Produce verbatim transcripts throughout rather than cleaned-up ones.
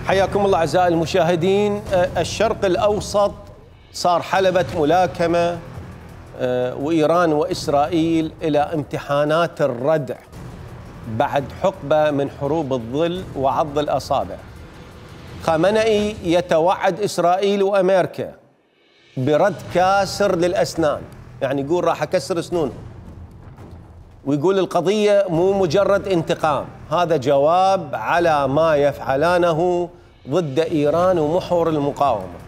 حياكم الله أعزائي المشاهدين. الشرق الأوسط صار حلبة ملاكمة، وإيران وإسرائيل إلى امتحانات الردع بعد حقبة من حروب الظل وعض الأصابع. خامنئي يتوعد إسرائيل وأمريكا برد كاسر للأسنان، يعني يقول راح أكسر سنونهم، ويقول القضية مو مجرد انتقام، هذا جواب على ما يفعلانه ضد إيران ومحور المقاومة.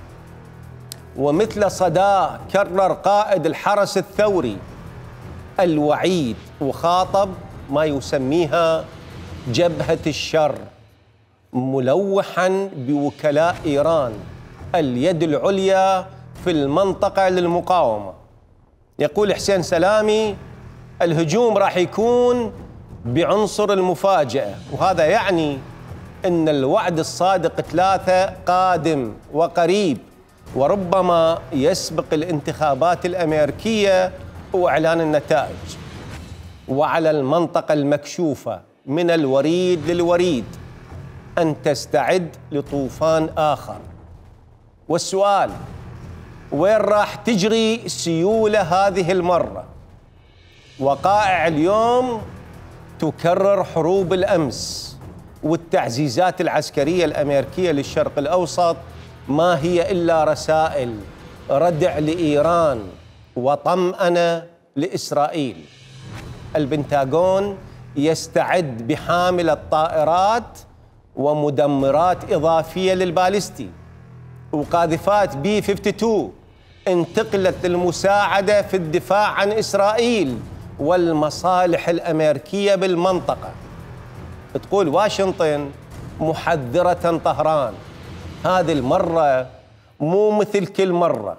ومثل صداه كرر قائد الحرس الثوري الوعيد وخاطب ما يسميها جبهة الشر، ملوحا بوكلاء إيران اليد العليا في المنطقة للمقاومة. يقول حسين سلامي الهجوم راح يكون بعنصر المفاجأة، وهذا يعني أن الوعد الصادق ثلاثة قادم وقريب، وربما يسبق الانتخابات الأمريكية وإعلان النتائج. وعلى المنطقة المكشوفة من الوريد للوريد أن تستعد لطوفان آخر. والسؤال، وين راح تجري سيولة هذه المرة؟ وقائع اليوم تكرر حروب الأمس، والتعزيزات العسكرية الأمريكية للشرق الأوسط ما هي إلا رسائل ردع لإيران وطمأنة لإسرائيل. البنتاغون يستعد بحاملة طائرات ومدمرات إضافية للبالستي، وقاذفات بي خمسة وخمسين انتقلت للمساعدة في الدفاع عن إسرائيل والمصالح الأمريكية بالمنطقة. تقول واشنطن محذرة طهران، هذه المرة مو مثل كل مرة،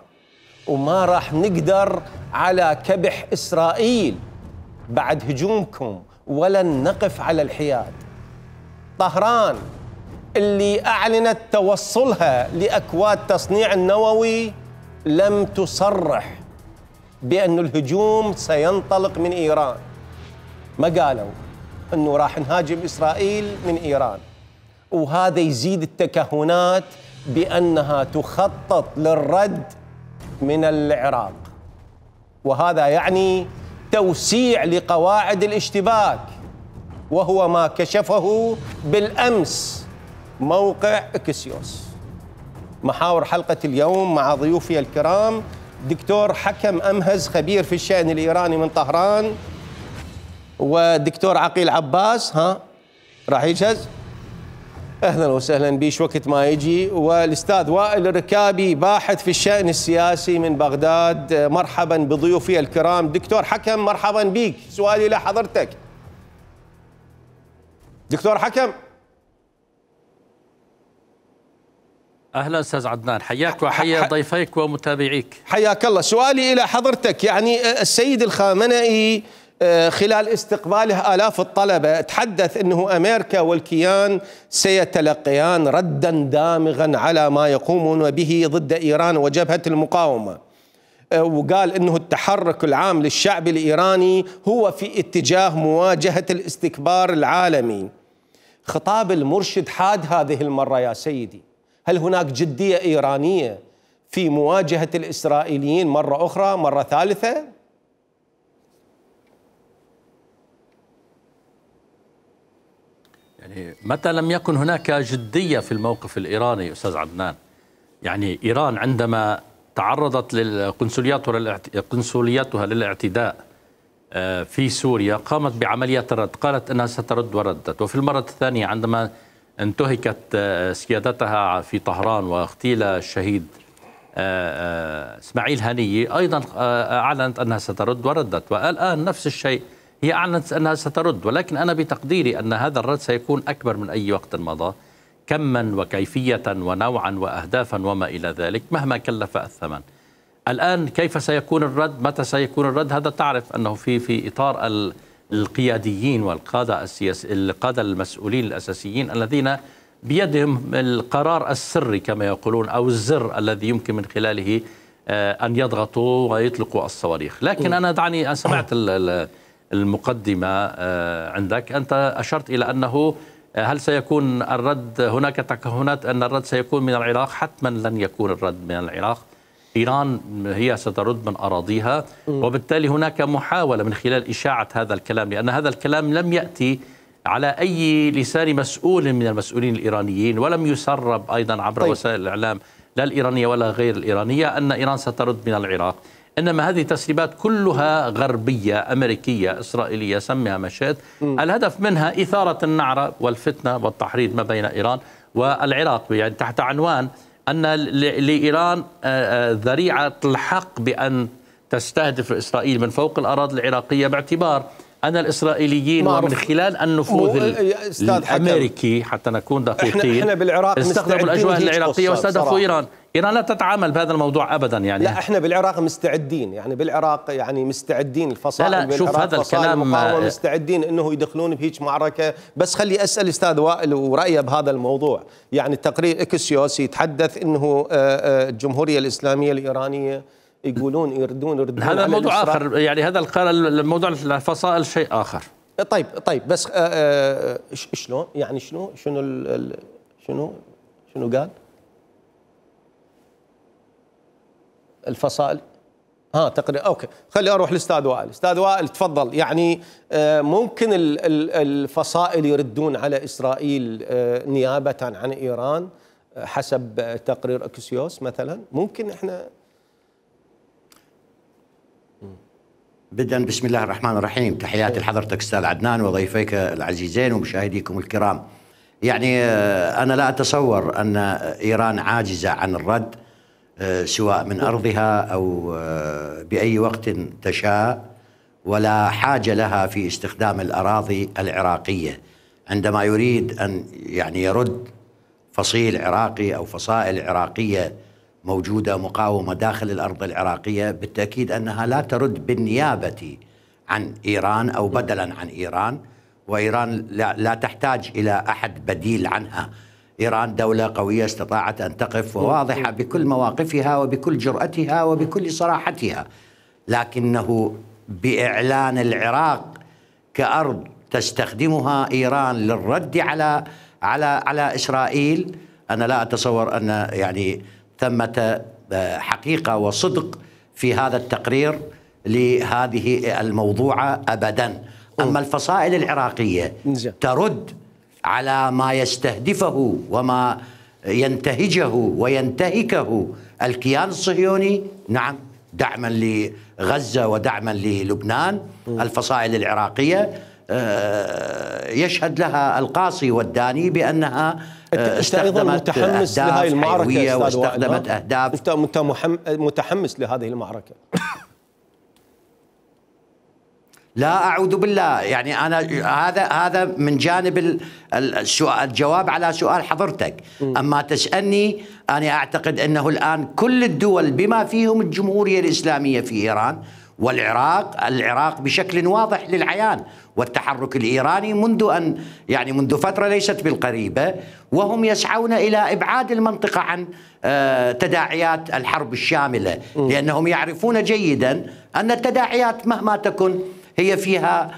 وما راح نقدر على كبح إسرائيل بعد هجومكم، ولن نقف على الحياد. طهران اللي أعلنت توصلها لأكواد تصنيع النووي لم تصرح بأن الهجوم سينطلق من إيران، ما قالوا أنه راح نهاجم إسرائيل من إيران. وهذا يزيد التكهنات بأنها تخطط للرد من العراق، وهذا يعني توسيع لقواعد الاشتباك، وهو ما كشفه بالأمس موقع إكسيوس. محاور حلقة اليوم مع ضيوفي الكرام دكتور حكم أمهز خبير في الشأن الإيراني من طهران، ودكتور عقيل عباس ها راح يجهز، أهلا وسهلا بيش وقت ما يجي، والأستاذ وائل الركابي باحث في الشأن السياسي من بغداد. مرحبا بضيوفي الكرام. دكتور حكم مرحبا بيك، سؤالي لحضرتك. دكتور حكم. أهلا أستاذ عدنان، حياك وحيا ضيفيك ومتابعيك. حياك الله. سؤالي إلى حضرتك، يعني السيد الخامنئي خلال استقباله آلاف الطلبة تحدث أنه أمريكا والكيان سيتلقيان ردا دامغا على ما يقومون به ضد إيران وجبهة المقاومة، وقال أنه التحرك العام للشعب الإيراني هو في اتجاه مواجهة الاستكبار العالمي. خطاب المرشد حاد هذه المرة يا سيدي، هل هناك جدية إيرانية في مواجهة الإسرائيليين مرة أخرى، مرة ثالثة؟ يعني متى لم يكن هناك جدية في الموقف الإيراني أستاذ عدنان؟ يعني إيران عندما تعرضت لقنصلياتها للاعتداء في سوريا قامت بعمليات الرد، قالت أنها سترد وردت. وفي المرة الثانية عندما انتهكت سيادتها في طهران واغتيل الشهيد اسماعيل هنية أيضا أعلنت أنها سترد وردت، والآن نفس الشيء هي أعلنت أنها سترد. ولكن أنا بتقديري أن هذا الرد سيكون أكبر من أي وقت مضى، كما وكيفية ونوعا وأهدافا وما إلى ذلك، مهما كلف الثمن. الآن كيف سيكون الرد؟ متى سيكون الرد؟ هذا تعرف أنه في في إطار القياديين والقادة السياسي، القادة المسؤولين الأساسيين الذين بيدهم القرار السري كما يقولون، أو الزر الذي يمكن من خلاله أن يضغطوا ويطلقوا الصواريخ. لكن أنا دعني أن سمعت المقدمة عندك، أنت أشرت إلى أنه هل سيكون الرد، هناك تكهنات أن الرد سيكون من العراق؟ حتما لن يكون الرد من العراق. إيران هي سترد من أراضيها، وبالتالي هناك محاولة من خلال إشاعة هذا الكلام، لأن هذا الكلام لم يأتي على أي لسان مسؤول من المسؤولين الإيرانيين، ولم يسرب أيضا عبر طيب. وسائل الإعلام لا الإيرانية ولا غير الإيرانية أن إيران سترد من العراق. إنما هذه تسريبات كلها غربية أمريكية إسرائيلية، سميها ما شئت. الهدف منها إثارة النعرة والفتنة والتحريض ما بين إيران والعراق، يعني تحت عنوان أن لإيران ذريعة الحق بأن تستهدف إسرائيل من فوق الأراضي العراقية، باعتبار أن الإسرائيليين ومن خلال النفوذ الأمريكي، حتى نكون دقيقين، احنا بالعراق استخدموا الأجواء العراقية واستهدفوا إيران. إيران لا تتعامل بهذا الموضوع أبدا يعني. لا احنا بالعراق مستعدين، يعني بالعراق يعني مستعدين الفصائل لا لا شوف هذا الكلام مستعدين انه يدخلون بهيج معركة. بس خلي اسأل استاذ وائل ورأيه بهذا الموضوع. يعني تقرير اكسيوس يتحدث انه الجمهورية الإسلامية الإيرانية يقولون يردون يردون هذا موضوع آخر، يعني هذا الموضوع الفصائل شيء آخر. طيب طيب بس شلون يعني شنو شنو شنو شنو قال الفصائل؟ ها تقريبا اوكي. خلي اروح للاستاذ وائل. استاذ وائل تفضل. يعني ممكن الفصائل يردون على اسرائيل نيابه عن ايران حسب تقرير اكسيوس مثلا؟ ممكن احنا بدءا بسم الله الرحمن الرحيم. تحياتي لحضرتك استاذ عدنان وضيفيك العزيزين ومشاهديكم الكرام. يعني انا لا اتصور ان ايران عاجزه عن الرد سواء من أرضها أو بأي وقت تشاء، ولا حاجة لها في استخدام الأراضي العراقية. عندما يريد أن يعني يرد فصيل عراقي أو فصائل عراقية موجودة مقاومة داخل الأرض العراقية، بالتأكيد أنها لا ترد بالنيابة عن إيران أو بدلا عن إيران، وإيران لا تحتاج إلى أحد بديل عنها. إيران دولة قوية استطاعت أن تقف وواضحة بكل مواقفها وبكل جرأتها وبكل صراحتها، لكنه بإعلان العراق كأرض تستخدمها إيران للرد على على على إسرائيل، أنا لا أتصور أن يعني ثمة حقيقة وصدق في هذا التقرير لهذه الموضوعة أبدا. أما الفصائل العراقية ترد على ما يستهدفه وما ينتهجه وينتهكه الكيان الصهيوني، نعم، دعما لغزة ودعما للبنان. الفصائل العراقية يشهد لها القاصي والداني بأنها استخدمت أهداف حيوية واستخدمت أهداف. أنت متحمس لهذه المعركة؟ لا أعوذ بالله، يعني أنا هذا هذا من جانب السؤال، الجواب على سؤال حضرتك. أما تسألني، أنا أعتقد أنه الآن كل الدول بما فيهم الجمهورية الإسلامية في إيران والعراق، العراق بشكل واضح للعيان، والتحرك الإيراني منذ أن يعني منذ فترة ليست بالقريبة، وهم يسعون إلى إبعاد المنطقة عن تداعيات الحرب الشاملة، لأنهم يعرفون جيدا أن التداعيات مهما تكن هي فيها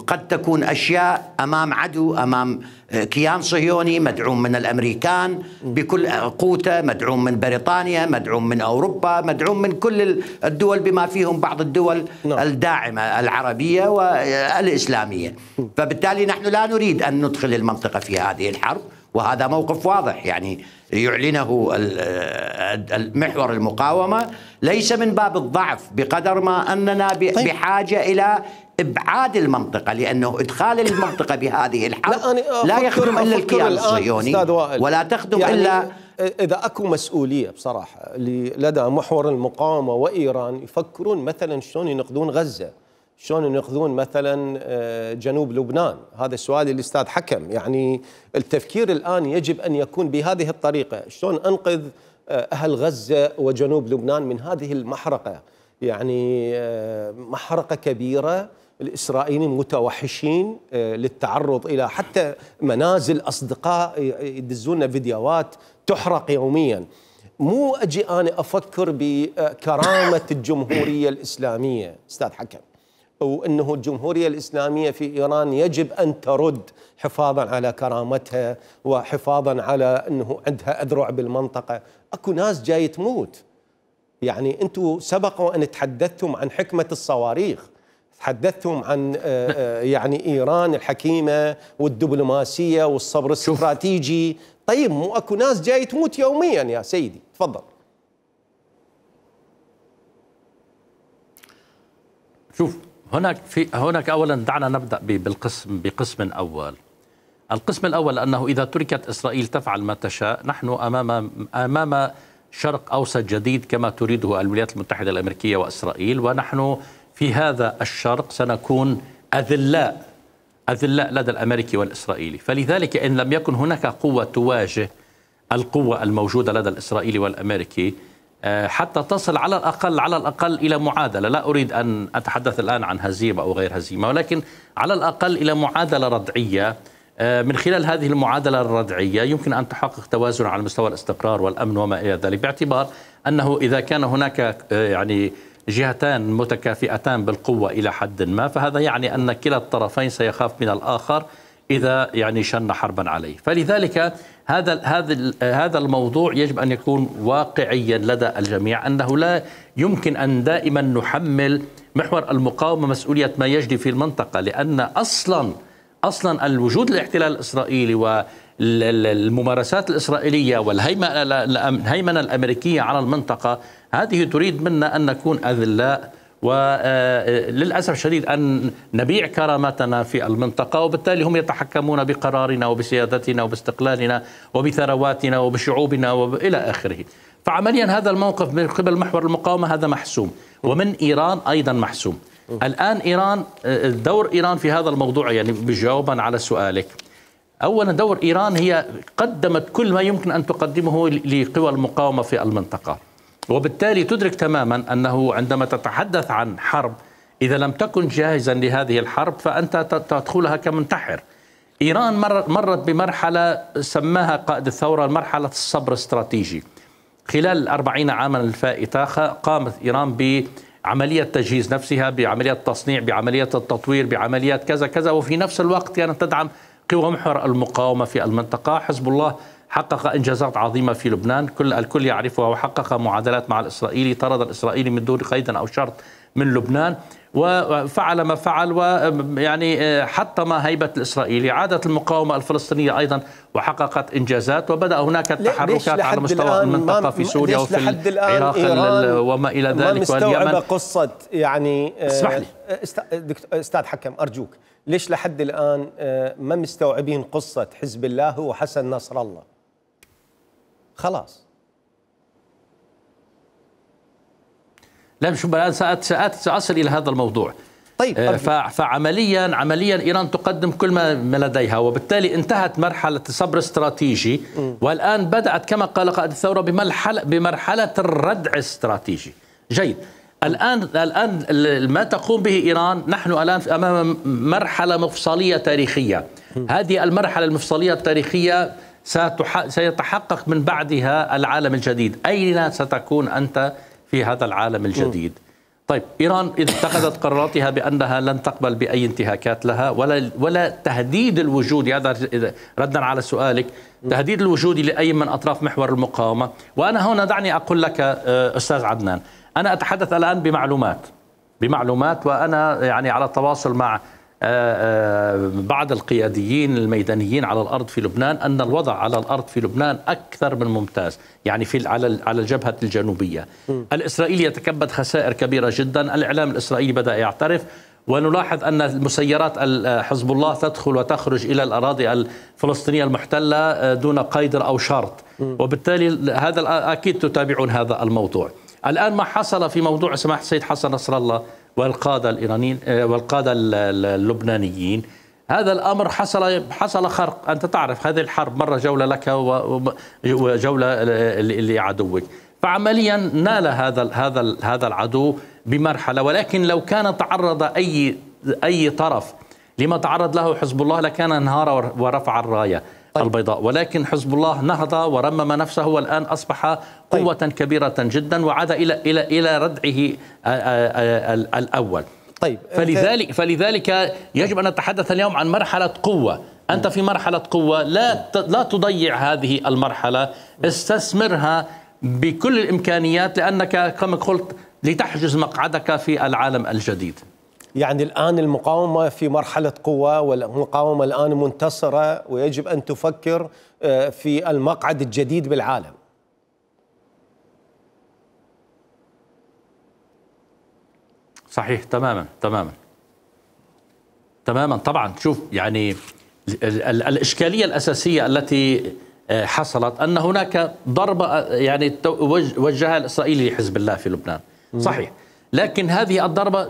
قد تكون أشياء أمام عدو، أمام كيان صهيوني مدعوم من الأمريكان بكل قوته، مدعوم من بريطانيا، مدعوم من أوروبا، مدعوم من كل الدول بما فيهم بعض الدول الداعمة العربية والإسلامية. فبالتالي نحن لا نريد أن ندخل المنطقة في هذه الحرب، وهذا موقف واضح يعني يعلنه المحور المقاومة، ليس من باب الضعف بقدر ما أننا بحاجة إلى إبعاد المنطقة، لأنه إدخال المنطقة بهذه الحرب لا, لا يخدم إلا الكيان الصهيوني ولا تخدم يعني إلا إذا أكو مسؤولية بصراحة لدى محور المقاومة وإيران يفكرون مثلا شلون ينقذون غزة، شلون ينقذون مثلا جنوب لبنان. هذا السؤال اللي الاستاذ حكم. يعني التفكير الآن يجب أن يكون بهذه الطريقة، شلون أنقذ أهل غزة وجنوب لبنان من هذه المحرقة. يعني محرقة كبيرة، الإسرائيليين متوحشين للتعرض إلى حتى منازل أصدقاء يدزون فيديوهات تحرق يوميا. مو أجي أنا أفكر بكرامة الجمهورية الإسلامية أستاذ حكم وأنه الجمهورية الإسلامية في إيران يجب أن ترد حفاظا على كرامتها وحفاظا على أنه عندها أذرع بالمنطقة. أكو ناس جاي تموت. يعني أنتم سبق أن تحدثتم عن حكمة الصواريخ، تحدثتم عن يعني إيران الحكيمة والدبلوماسية والصبر الاستراتيجي. طيب مو أكو ناس جاي تموت يوميا يا سيدي؟ تفضل. شوف، هناك في هناك اولا دعنا نبدا بالقسم بقسم اول. القسم الاول انه اذا تركت اسرائيل تفعل ما تشاء، نحن امام امام شرق اوسط جديد كما تريده الولايات المتحده الامريكيه واسرائيل، ونحن في هذا الشرق سنكون اذلاء اذلاء لدى الامريكي والاسرائيلي. فلذلك ان لم يكن هناك قوه تواجه القوه الموجوده لدى الاسرائيلي والامريكي حتى تصل على الأقل على الأقل إلى معادلة، لا أريد أن أتحدث الآن عن هزيمة أو غير هزيمة، ولكن على الأقل إلى معادلة ردعية. من خلال هذه المعادلة الردعية يمكن أن تحقق توازن على مستوى الاستقرار والأمن وما إلى ذلك، باعتبار أنه إذا كان هناك يعني جهتان متكافئتان بالقوة إلى حد ما، فهذا يعني أن كلا الطرفين سيخاف من الآخر إذا يعني شن حربا عليه. فلذلك هذا هذا هذا الموضوع يجب أن يكون واقعيا لدى الجميع، أنه لا يمكن أن دائما نحمل محور المقاومة مسؤولية ما يجري في المنطقة، لأن أصلا أصلا الوجود الاحتلال الإسرائيلي والممارسات الإسرائيلية والهيمنة الأمريكية على المنطقة هذه تريد منا أن نكون أذلاء، وللأسف الشديد أن نبيع كرامتنا في المنطقة، وبالتالي هم يتحكمون بقرارنا وبسيادتنا وباستقلالنا وبثرواتنا وبشعوبنا وإلى آخره. فعمليا هذا الموقف من قبل محور المقاومة هذا محسوم، ومن إيران أيضا محسوم. الآن إيران، دور إيران في هذا الموضوع يعني بجوابا على سؤالك، أولا دور إيران هي قدمت كل ما يمكن أن تقدمه لقوى المقاومة في المنطقة، وبالتالي تدرك تماما أنه عندما تتحدث عن حرب إذا لم تكن جاهزا لهذه الحرب فأنت تدخلها كمنتحر. إيران مرت بمرحلة سماها قائد الثورة مرحلة الصبر الاستراتيجي. خلال الأربعين عاما الفائتة قامت إيران بعملية تجهيز نفسها، بعملية تصنيع، بعملية التطوير، بعمليات كذا كذا، وفي نفس الوقت كانت تدعم قوى محور المقاومة في المنطقة. حزب الله حقق إنجازات عظيمة في لبنان كل الكل يعرفها، وحقق معادلات مع الإسرائيلي، طرد الإسرائيلي من دون قيد أو شرط من لبنان، وفعل ما فعل، ويعني حطم هيبة الإسرائيلي. عادت المقاومة الفلسطينية أيضا وحققت إنجازات، وبدأ هناك التحركات على مستوى المنطقة في سوريا وفي العراق وما إلى ذلك واليمن. قصة يعني اسمح لي أستاذ حكم أرجوك، ليش لحد الآن ما مستوعبين قصة حزب الله وحسن نصر الله؟ خلاص لا شو سأتي سأصل إلى هذا الموضوع. طيب فعمليا عمليا إيران تقدم كل ما لديها، وبالتالي انتهت مرحلة الصبر الاستراتيجي، والآن بدأت كما قال قائد الثورة بمرحلة بمرحلة الردع الاستراتيجي. جيد. الآن الآن ما تقوم به إيران، نحن الآن أمام مرحلة مفصلية تاريخية. هذه المرحلة المفصلية التاريخية سيتحقق من بعدها العالم الجديد. أين ستكون أنت في هذا العالم الجديد؟ طيب إيران إذا اتخذت قراراتها بأنها لن تقبل بأي انتهاكات لها ولا ولا تهديد الوجود، هذا ردا على سؤالك، تهديد الوجود لأي من أطراف محور المقاومة. وأنا هنا دعني أقول لك أستاذ عدنان، أنا أتحدث الآن بمعلومات بمعلومات وأنا يعني على تواصل مع بعض القياديين الميدانيين على الأرض في لبنان، أن الوضع على الأرض في لبنان أكثر من ممتاز، يعني في على على الجبهة الجنوبية. الإسرائيلي يتكبد خسائر كبيرة جدا، الإعلام الإسرائيلي بدأ يعترف، ونلاحظ أن المسيرات حزب الله تدخل وتخرج إلى الأراضي الفلسطينية المحتلة دون قيد أو شرط، وبالتالي هذا أكيد تتابعون هذا الموضوع. الآن ما حصل في موضوع سماحة السيد حسن نصر الله والقادة الإيرانيين والقادة اللبنانيين، هذا الأمر حصل حصل خرق. أنت تعرف هذه الحرب مرة جولة لك وجولة لعدوك، فعمليا نال هذا هذا هذا العدو بمرحلة. ولكن لو كان تعرض أي أي طرف لما تعرض له حزب الله لكان انهار ورفع الراية طيب. البيضاء، ولكن حزب الله نهض ورمم نفسه، والآن أصبح قوة طيب. كبيرة جدا، وعاد إلى إلى إلى ردعه الأول. طيب فلذلك فلذلك يجب أن نتحدث اليوم عن مرحلة قوة. أنت في مرحلة قوة، لا لا تضيع هذه المرحلة، استثمرها بكل الإمكانيات، لأنك كما قلت لتحجز مقعدك في العالم الجديد. يعني الآن المقاومة في مرحلة قوة، والمقاومة الآن منتصرة، ويجب أن تفكر في المقعد الجديد بالعالم. صحيح تماما تماما تماما. طبعا شوف، يعني الإشكالية الأساسية التي حصلت أن هناك ضربة يعني وجهها الإسرائيلي لحزب الله في لبنان، صحيح، لكن هذه الضربة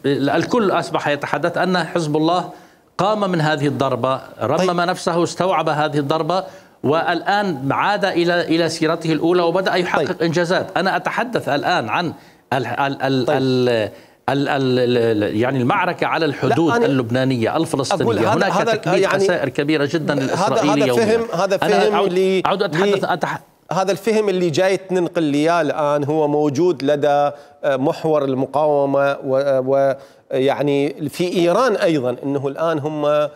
الكل أصبح يتحدث أن حزب الله قام من هذه الضربة، رمم نفسه، استوعب هذه الضربة، والآن عاد إلى إلى سيرته الأولى وبدأ يحقق طيب. إنجازات. أنا أتحدث الآن عن ال ال ال طيب. ال ال ال يعني المعركة على الحدود اللبنانية الفلسطينية. هناك هذا تكبيد يعني خسائر كبيرة جدا للإسرائيلي هذا فهم هذا فهم اللي أعود أتحدث أتح... هذا الفهم اللي جاي تنقل لي الآن هو موجود لدى محور المقاومة، ويعني في إيران أيضا أنه الآن هم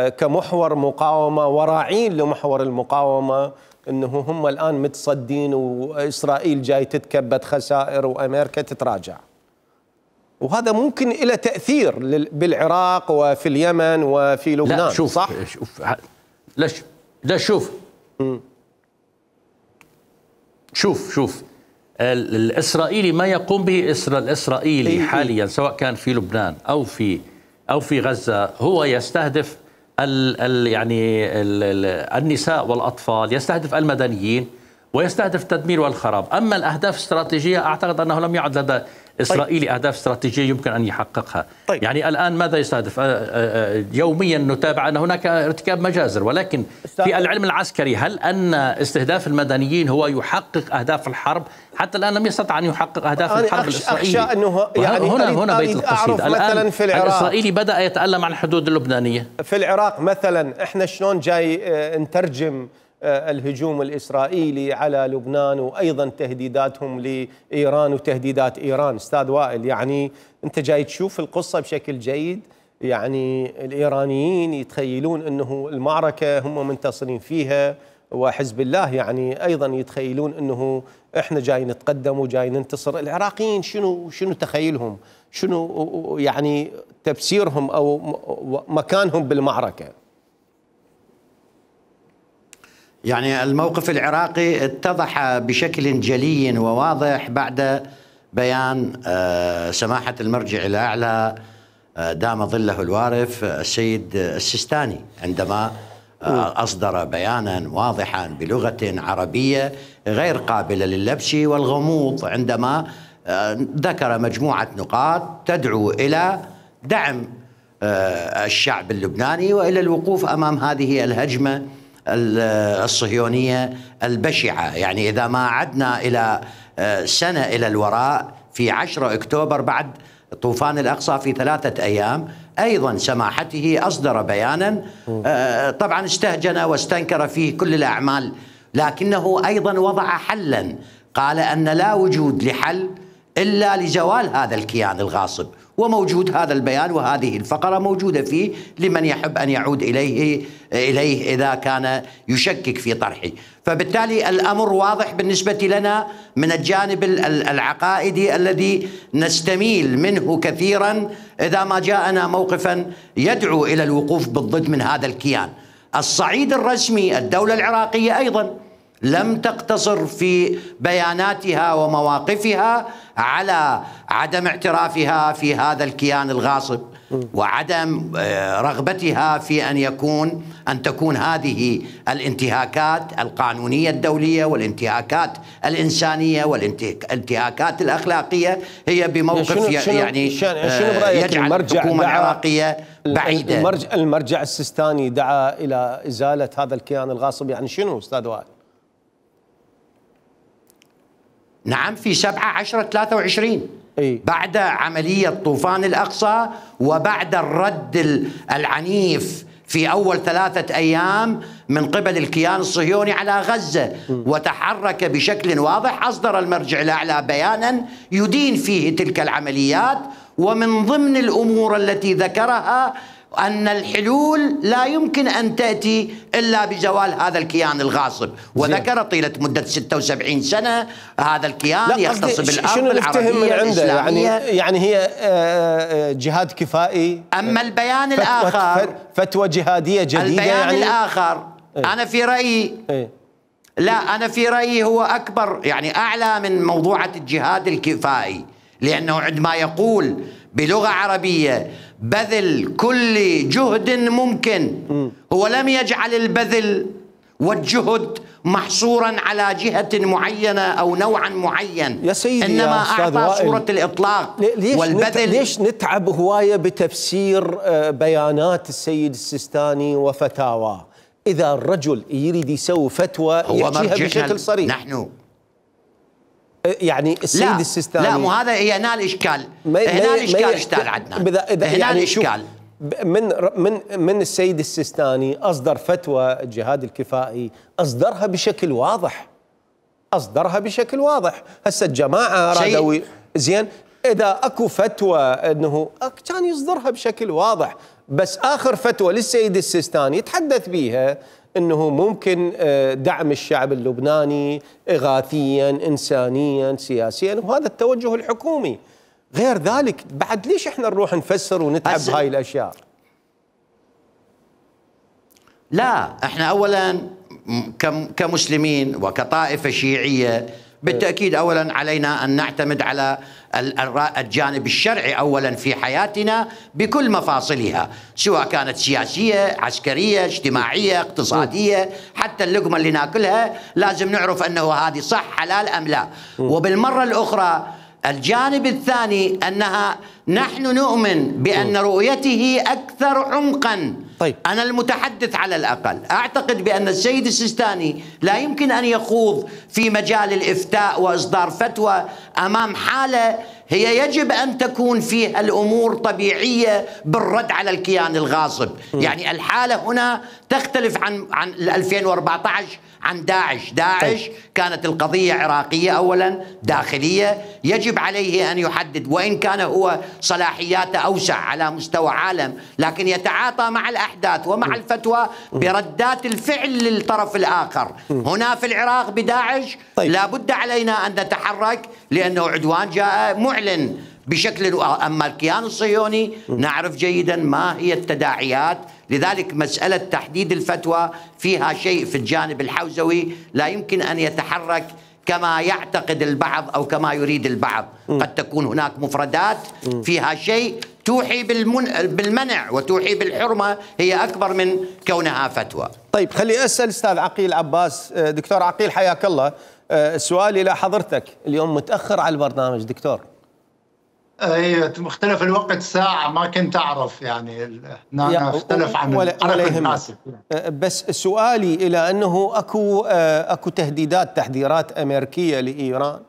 كمحور مقاومة وراعين لمحور المقاومة، أنه هم الآن متصدين، وإسرائيل جاي تتكبد خسائر وأمريكا تتراجع، وهذا ممكن له تأثير بالعراق وفي اليمن وفي لبنان. لا شوف صح؟ شوف لا لا شوف م. شوف شوف الإسرائيلي ما يقوم به الإسرائيلي إيه حاليا سواء كان في لبنان أو في أو في غزة، هو يستهدف ال ال يعني ال ال النساء والأطفال، يستهدف المدنيين، ويستهدف التدمير والخراب. أما الأهداف الاستراتيجية أعتقد أنه لم يعد لدى إسرائيلي طيب. أهداف استراتيجية يمكن أن يحققها. طيب. يعني الآن ماذا يستهدف؟ يوميا نتابع أن هناك ارتكاب مجازر، ولكن في العلم العسكري هل أن استهداف المدنيين هو يحقق أهداف الحرب؟ حتى الآن لم يستطع أن يحقق أهداف الحرب الإسرائيلي. أخشى أنه يعني هنا هنا بيت القصيدة. الآن في العراق الإسرائيلي بدأ يتألم عن الحدود اللبنانية. في العراق مثلا إحنا شلون جاي نترجم الهجوم الإسرائيلي على لبنان، وأيضا تهديداتهم لإيران وتهديدات إيران. أستاذ وائل، يعني أنت جاي تشوف القصة بشكل جيد، يعني الإيرانيين يتخيلون أنه المعركة هم منتصرين فيها، وحزب الله يعني أيضا يتخيلون أنه إحنا جاي نتقدم وجاي ننتصر. العراقيين شنو شنو تخيلهم؟ شنو يعني تفسيرهم أو مكانهم بالمعركة؟ يعني الموقف العراقي اتضح بشكل جلي وواضح بعد بيان سماحة المرجع الأعلى دام ظله الوارف السيد السيستاني، عندما أصدر بيانا واضحا بلغة عربية غير قابلة للبس والغموض، عندما ذكر مجموعة نقاط تدعو إلى دعم الشعب اللبناني وإلى الوقوف أمام هذه الهجمة الصهيونية البشعة. يعني إذا ما عدنا إلى سنة إلى الوراء، في عشرة أكتوبر بعد طوفان الأقصى في ثلاثة أيام أيضا سماحته أصدر بيانا طبعا استهجن واستنكر فيه كل الأعمال، لكنه أيضا وضع حلا، قال أن لا وجود لحل إلا لزوال هذا الكيان الغاصب، وموجود هذا البيان وهذه الفقرة موجودة فيه لمن يحب أن يعود إليه إليه إذا كان يشكك في طرحه. فبالتالي الأمر واضح بالنسبة لنا من الجانب العقائدي الذي نستميل منه كثيرا إذا ما جاءنا موقفا يدعو إلى الوقوف بالضد من هذا الكيان. الصعيد الرسمي، الدولة العراقية أيضا لم تقتصر في بياناتها ومواقفها على عدم اعترافها في هذا الكيان الغاصب وعدم رغبتها في أن يكون أن تكون هذه الانتهاكات القانونية الدولية والانتهاكات الإنسانية والانتهاكات الأخلاقية هي بموقف شنو شنو يعني شنو يجعل الحكومة العراقية بعيدة. المرجع, المرجع السيستاني دعا إلى إزالة هذا الكيان الغاصب، يعني شنو أستاذ وائل؟ نعم، في سبعة عشرة ثلاثة وعشرين إيه؟ بعد عملية طوفان الأقصى وبعد الرد العنيف في أول ثلاثة أيام من قبل الكيان الصهيوني على غزة، وتحرك بشكل واضح، أصدر المرجع الأعلى بيانا يدين فيه تلك العمليات ومن ضمن الأمور التي ذكرها أن الحلول لا يمكن أن تأتي إلا بزوال هذا الكيان الغاصب، وذكر طيلة مدة ستة وسبعين سنة هذا الكيان يختص بالأرض العربية الإسلامية. يعني, يعني هي جهاد كفائي؟ أما البيان الآخر فتوى جهادية جديدة؟ البيان يعني الآخر ايه؟ أنا في رأيي ايه؟ لا أنا في رأيي هو أكبر، يعني أعلى من موضوعة الجهاد الكفائي، لأنه عندما يقول بلغة عربية بذل كل جهد ممكن، هو لم يجعل البذل والجهد محصورا على جهة معينة أو نوعا معين، يا سيدي إنما يا أعطى صورة الإطلاق ليش والبذل. ليش نتعب هواية بتفسير بيانات السيد السيستاني وفتاواه؟ إذا الرجل يريد يسوي فتوى يحكيها بشكل صريح. نحن يعني السيد لا السيستاني لا مو هذا، هي هنا الإشكال، هنا الإشكال اشتغل عندنا هنا يعني الإشكال من من من السيد السيستاني أصدر فتوى الجهاد الكفائي، أصدرها بشكل واضح، أصدرها بشكل واضح. هسه الجماعة رادوا زين، إذا أكو فتوى أنه كان يصدرها بشكل واضح، بس آخر فتوى للسيد السيستاني يتحدث بيها أنه ممكن دعم الشعب اللبناني إغاثيا إنسانيا سياسيا، وهذا التوجه الحكومي. غير ذلك بعد ليش احنا نروح نفسر ونتعب بهاي الأشياء؟ لا احنا أولا كمسلمين وكطائفة شيعية بالتأكيد أولا علينا أن نعتمد على الجانب الشرعي أولا في حياتنا بكل مفاصلها، سواء كانت سياسية عسكرية اجتماعية اقتصادية، حتى اللقمة اللي ناكلها لازم نعرف أنه هذه صح حلال أم لا. وبالمرة الأخرى الجانب الثاني أنها نحن نؤمن بأن رؤيته أكثر عمقا. طيب. أنا المتحدث على الأقل أعتقد بأن السيد السيستاني لا يمكن أن يخوض في مجال الإفتاء وإصدار فتوى أمام حالة هي يجب أن تكون فيها الأمور طبيعية بالرد على الكيان الغاصب. م. يعني الحالة هنا تختلف عن عن ألفين وأربعة عشر عن داعش. داعش طيب. كانت القضية عراقية أولا داخلية، يجب عليه أن يحدد، وإن كان هو صلاحياته أوسع على مستوى عالم، لكن يتعاطى مع الأحداث ومع الفتوى بردات الفعل للطرف الآخر. هنا في العراق بداعش طيب. لا بد علينا أن نتحرك لأنه عدوان جاء معلن بشكل. أما الكيان الصهيوني نعرف جيدا ما هي التداعيات، لذلك مسألة تحديد الفتوى فيها شيء في الجانب الحوزوي لا يمكن أن يتحرك كما يعتقد البعض أو كما يريد البعض. قد تكون هناك مفردات فيها شيء توحي بالمنع وتوحي بالحرمة، هي أكبر من كونها فتوى. طيب خلي أسأل أستاذ عقيل عباس. دكتور عقيل حياك الله، سؤالي لحضرتك، اليوم متأخر على البرنامج دكتور. اي مختلف الوقت ساعة، ما كنت أعرف يعني أنا اختلف عن ولا, ولا الناس. بس سؤالي إلى أنه أكو أكو تهديدات تحذيرات أمريكية لإيران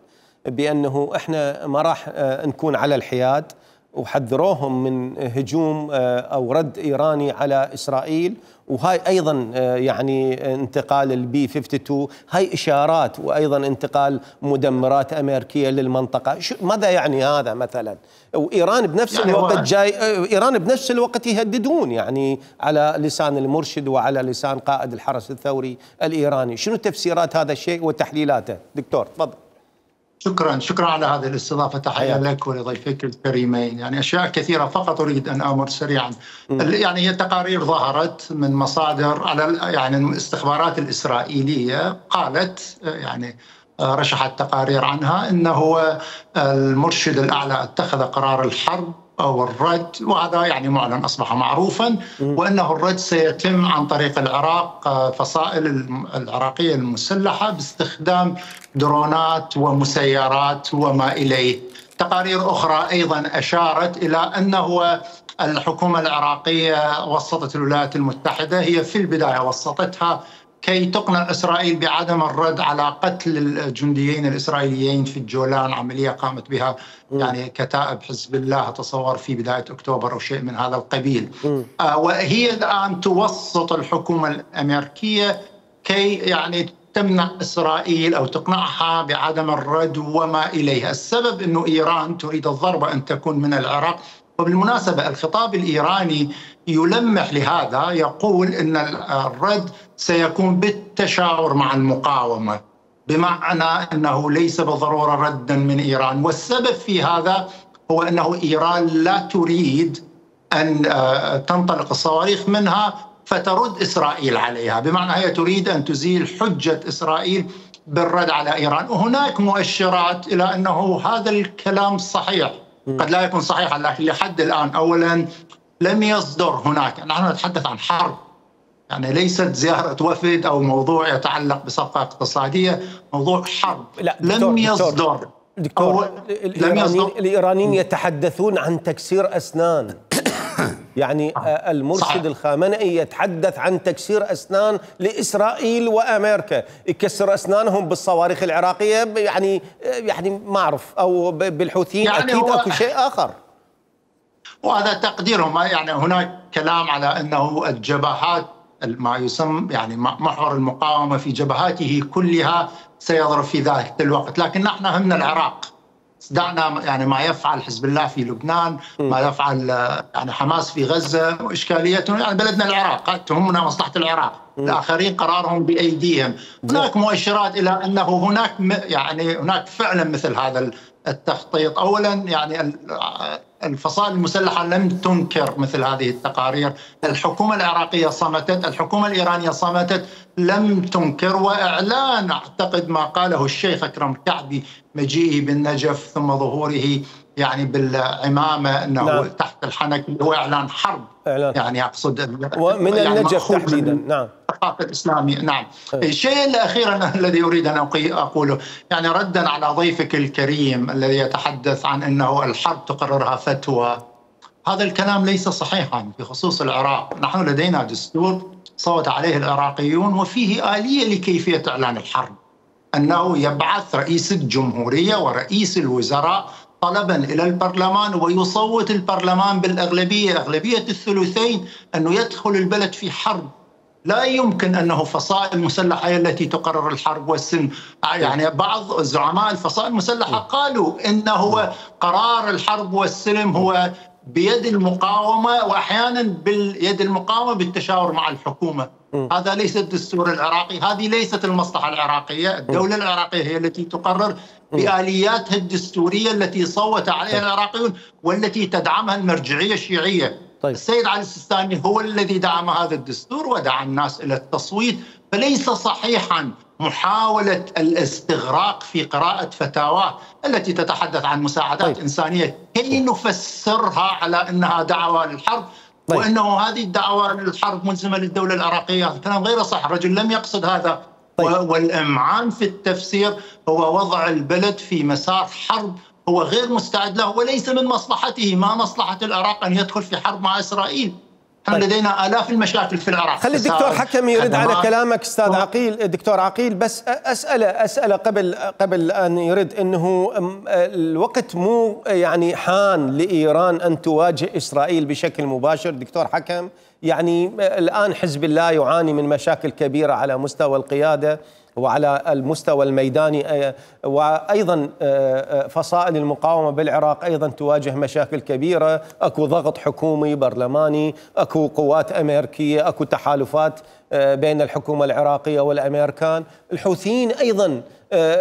بأنه إحنا ما راح نكون على الحياد، وحذروهم من هجوم أو رد إيراني على إسرائيل، وهاي أيضا يعني انتقال البي اثنين وخمسين، هاي إشارات، وأيضا انتقال مدمرات أمريكية للمنطقة. ماذا يعني هذا مثلا؟ وإيران بنفس يعني الوقت جاي إيران بنفس الوقت يهددون يعني على لسان المرشد وعلى لسان قائد الحرس الثوري الإيراني. شنو تفسيرات هذا الشيء وتحليلاته دكتور؟ تفضل. شكرا شكرا على هذه الاستضافة، تحية لك ولضيفك الكريمين. يعني أشياء كثيرة فقط أريد أن أمر سريعا. م. يعني هي تقارير ظهرت من مصادر على يعني الاستخبارات الإسرائيلية، قالت يعني رشحت تقارير عنها أنه المرشد الأعلى اتخذ قرار الحرب أو الرد، وهذا يعني معلن أصبح معروفا، وأنه الرد سيتم عن طريق العراق، فصائل العراقية المسلحة باستخدام درونات ومسيرات وما إليه. تقارير أخرى أيضا أشارت إلى أنه الحكومة العراقية وسطت الولايات المتحدة، هي في البداية وسطتها كي تقنع إسرائيل بعدم الرد على قتل الجنديين الإسرائيليين في الجولان، عملية قامت بها يعني كتائب حزب الله أتصور في بداية أكتوبر أو شيء من هذا القبيل. آه وهي الآن توسط الحكومة الأمريكية كي يعني تمنع إسرائيل أو تقنعها بعدم الرد وما إليه. السبب أنه إيران تريد الضربة أن تكون من العراق. وبالمناسبة الخطاب الإيراني يلمح لهذا، يقول أن الرد سيكون بالتشاور مع المقاومة، بمعنى أنه ليس بالضرورة ردا من إيران. والسبب في هذا هو أنه إيران لا تريد أن تنطلق الصواريخ منها فترد إسرائيل عليها، بمعنى هي تريد أن تزيل حجة إسرائيل بالرد على إيران. وهناك مؤشرات إلى أنه هذا الكلام صحيح، قد لا يكون صحيحا، لكن لحد الآن أولا لم يصدر هناك، نحن نتحدث عن حرب، يعني ليست زيارة وفد أو موضوع يتعلق بصفقة اقتصادية، موضوع حرب. لا لم يصدر دكتور الإيرانيين, الإيرانيين يتحدثون عن تكسير أسنان. يعني المرشد صحيح. الخامنئي يتحدث عن تكسير أسنان لإسرائيل وأمريكا، يكسر أسنانهم بالصواريخ العراقية، يعني يعني ما أعرف، أو بالحوثيين يعني أكيد أكو شيء آخر. وهذا تقديرهم، يعني هناك كلام على أنه الجبهات ما يسمى يعني محور المقاومة في جبهاته كلها سيضرب في ذلك الوقت، لكن نحن همنا العراق. دعنا يعني ما يفعل حزب الله في لبنان، ما يفعل يعني حماس في غزة، إشكاليتنا يعني بلدنا العراق، تهمنا مصلحة العراق، الآخرين قرارهم بأيديهم. هناك مؤشرات إلى أنه هناك يعني هناك فعلا مثل هذا التخطيط. أولا يعني الفصائل المسلحة لم تنكر مثل هذه التقارير، الحكومة العراقية صمتت، الحكومة الإيرانية صمتت، لم تنكر. وإعلان أعتقد ما قاله الشيخ أكرم كعبي مجيئه بالنجف ثم ظهوره يعني بالعمامة أنه نعم. تحت الحنك، هو إعلان حرب. إعلان. يعني أقصد ومن يعني النجف تحديدا. نعم الثقافة الإسلامية. نعم. الشيء الأخير الذي أريد أن أقوله، يعني ردا على ضيفك الكريم الذي يتحدث عن أنه الحرب تقررها فتوى، هذا الكلام ليس صحيحا في خصوص العراق. نحن لدينا دستور صوت عليه العراقيون وفيه آلية لكيفية إعلان الحرب، أنه يبعث رئيس الجمهورية ورئيس الوزراء طلبا إلى البرلمان ويصوت البرلمان بالأغلبية، أغلبية الثلثين، أنه يدخل البلد في حرب. لا يمكن أنه فصائل مسلحة هي التي تقرر الحرب والسلم. يعني بعض زعماء الفصائل المسلحة قالوا إنه قرار الحرب والسلم هو بيد المقاومة، وأحيانا باليد المقاومة بالتشاور مع الحكومة. هذا ليس الدستور العراقي، هذه ليست المصلحة العراقية. الدولة العراقية هي التي تقرر بآلياتها الدستورية التي صوت عليها العراقيون والتي تدعمها المرجعية الشيعية. طيب. السيد علي السيستاني هو الذي دعم هذا الدستور ودعا الناس إلى التصويت. فليس صحيحا محاولة الاستغراق في قراءة فتاواه التي تتحدث عن مساعدات طيب. إنسانية كي نفسرها على أنها دعوة للحرب. طيب. وأنه هذه الدعوة للحرب ملزمة للدولة العراقية. هذا كلام غير صح، الرجل لم يقصد هذا. طيب. والإمعان في التفسير هو وضع البلد في مسار حرب هو غير مستعد له، وليس من مصلحته. ما مصلحة العراق أن يدخل في حرب مع إسرائيل؟ طيب. لدينا آلاف المشاكل في العراق. خلي الدكتور حكم يرد على كلامك أستاذ عقيل. دكتور عقيل، بس أسأله أسأله قبل قبل أن يرد، إنه الوقت مو يعني حان لإيران أن تواجه إسرائيل بشكل مباشر دكتور حكم؟ يعني الآن حزب الله يعاني من مشاكل كبيرة على مستوى القيادة وعلى المستوى الميداني، وأيضا فصائل المقاومة بالعراق أيضا تواجه مشاكل كبيرة، أكو ضغط حكومي برلماني، أكو قوات أمريكية، أكو تحالفات بين الحكومة العراقية والأمريكان، الحوثيين أيضا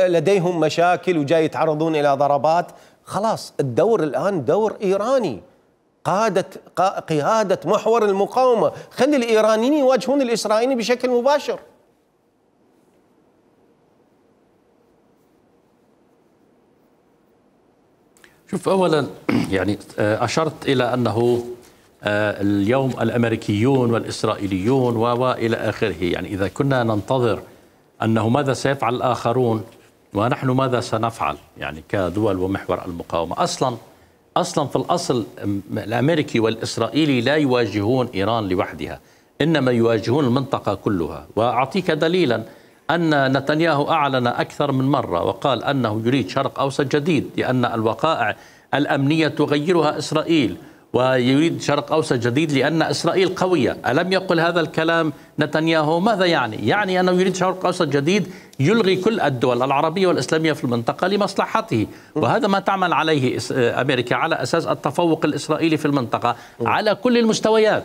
لديهم مشاكل وجاي يتعرضون إلى ضربات. خلاص الدور الآن دور إيراني، قادة قيادة محور المقاومة، خلي الإيرانيين يواجهون الإسرائيليين بشكل مباشر. شوف، أولا يعني أشرت إلى أنه اليوم الأمريكيون والإسرائيليون وإلى آخره، يعني إذا كنا ننتظر أنه ماذا سيفعل الآخرون ونحن ماذا سنفعل يعني كدول ومحور المقاومة. أصلا أصلا في الأصل الأمريكي والإسرائيلي لا يواجهون إيران لوحدها، إنما يواجهون المنطقة كلها. وأعطيك دليلا أن نتنياهو أعلن أكثر من مرة وقال أنه يريد شرق أوسط جديد، لأن الوقائع الأمنية تغيرها إسرائيل، ويريد شرق أوسط جديد لأن إسرائيل قوية. ألم يقل هذا الكلام نتنياهو؟ ماذا يعني؟ يعني أنه يريد شرق أوسط جديد يلغي كل الدول العربية والإسلامية في المنطقة لمصلحته، وهذا ما تعمل عليه أمريكا على أساس التفوق الإسرائيلي في المنطقة على كل المستويات.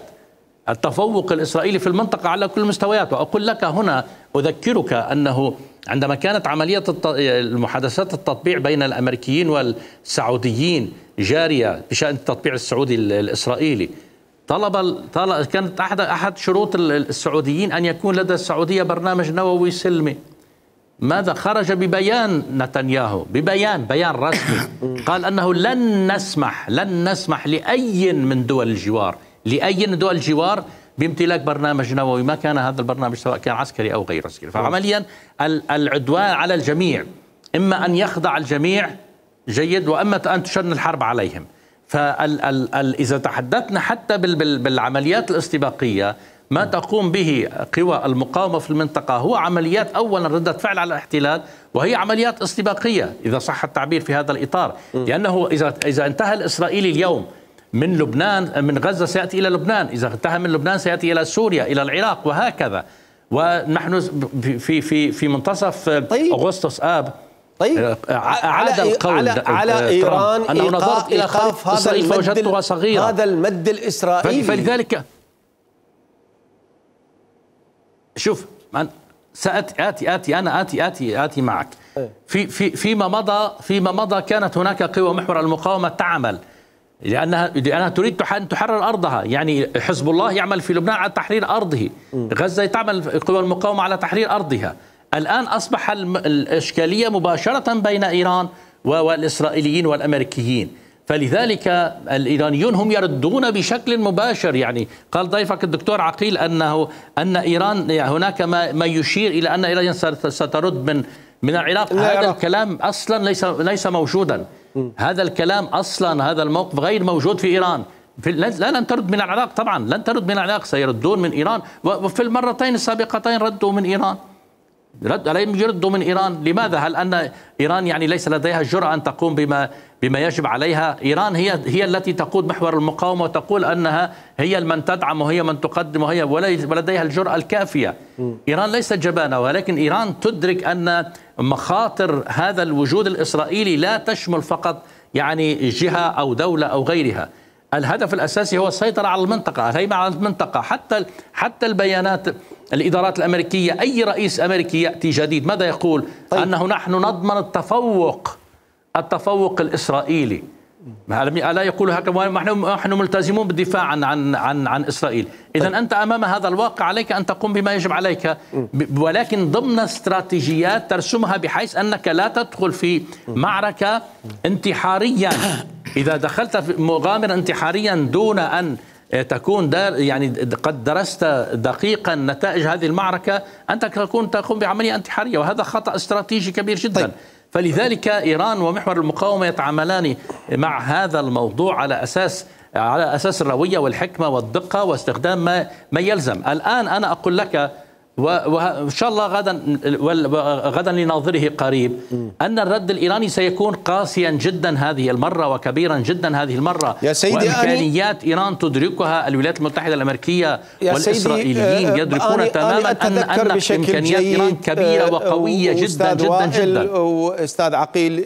التفوق الإسرائيلي في المنطقة على كل المستويات. وأقول لك هنا، أذكرك أنه عندما كانت عملية المحادثات التطبيع بين الأمريكيين والسعوديين جارية بشأن التطبيع السعودي الإسرائيلي، طلب طلب كانت أحد أحد شروط السعوديين أن يكون لدى السعودية برنامج نووي سلمي. ماذا خرج ببيان نتنياهو، ببيان بيان رسمي، قال أنه لن نسمح لن نسمح لأي من دول الجوار لأي من دول الجوار بامتلاك برنامج نووي، ما كان هذا البرنامج سواء كان عسكري أو غير عسكري. فعمليا العدوان على الجميع، إما أن يخضع الجميع جيد، وإما أن تشن الحرب عليهم. فإذا تحدثنا حتى بالعمليات الاستباقية، ما تقوم به قوى المقاومة في المنطقة هو عمليات أولا ردة فعل على الاحتلال، وهي عمليات استباقية إذا صح التعبير في هذا الإطار، لأنه إذا إذا انتهى الإسرائيلي اليوم من لبنان من غزة سيأتي إلى لبنان، إذا انتهى من لبنان سيأتي إلى سوريا إلى العراق وهكذا. ونحن في في في منتصف طيب. أغسطس آب طيب أعاد القول على, على إيران أنه نظرت إلى خارطة إسرائيل فوجدتها صغيرة، هذا المد الإسرائيلي. فلذلك شوف سأتي آتي آتي أنا آتي آتي آتي معك. في في فيما مضى فيما مضى كانت هناك قوى محور المقاومة تعمل لأنها لأنها تريد أن تحرر أرضها. يعني حزب الله يعمل في لبنان على تحرير أرضه، غزة تعمل قوى المقاومة على تحرير أرضها. الآن أصبح الإشكالية مباشرة بين إيران والإسرائيليين والأمريكيين، فلذلك الإيرانيون هم يردون بشكل مباشر. يعني قال ضيفك الدكتور عقيل أنه أن إيران هناك ما ما يشير إلى أن إيران سترد من من العراق. هذا الكلام أصلا ليس ليس موجودا. هذا الكلام أصلا هذا الموقف غير موجود في إيران. في لا لن ترد من العراق، طبعا لن ترد من العراق، سيردون من إيران، وفي المرتين السابقتين ردوا من إيران. رد عليهم يردوا من إيران. لماذا؟ هل أن إيران يعني ليس لديها الجرأة أن تقوم بما بما يجب عليها؟ إيران هي هي التي تقود محور المقاومة وتقول أنها هي من تدعم وهي من تقدم وهي ولديها الجرأة الكافية. إيران ليست جبانة، ولكن إيران تدرك أن مخاطر هذا الوجود الإسرائيلي لا تشمل فقط يعني جهة أو دولة أو غيرها. الهدف الأساسي هو السيطرة على المنطقة، الهيمنة على المنطقة. حتى حتى البيانات الإدارات الأمريكية، أي رئيس أمريكي يأتي جديد ماذا يقول؟ طيب. أنه نحن نضمن التفوق التفوق الإسرائيلي. ألا يقول هكذا؟ نحن ملتزمون بالدفاع عن عن عن, عن إسرائيل. إذا طيب. أنت أمام هذا الواقع عليك أن تقوم بما يجب عليك، ولكن ضمن استراتيجيات ترسمها بحيث أنك لا تدخل في معركة انتحاريا. إذا دخلت في مغامرة انتحاريا دون أن تكون دار يعني قد درست دقيقا نتائج هذه المعركة، أنت تكون تقوم بعملية انتحارية، وهذا خطأ استراتيجي كبير جدا. طيب. فلذلك إيران ومحور المقاومة يتعاملان مع هذا الموضوع على أساس على أساس الروية والحكمة والدقة واستخدام ما ما يلزم. الآن أنا أقول لك وإن شاء الله غدا غدا لناظره قريب أن الرد الإيراني سيكون قاسيا جدا هذه المرة وكبيرا جدا هذه المرة، يا سيدي وإمكانيات إيران تدركها الولايات المتحدة الأمريكية والإسرائيليين يدركون تماما أن أن إمكانيات إيران كبيرة وقوية جدا جدا جدا. وأستاذ عقيل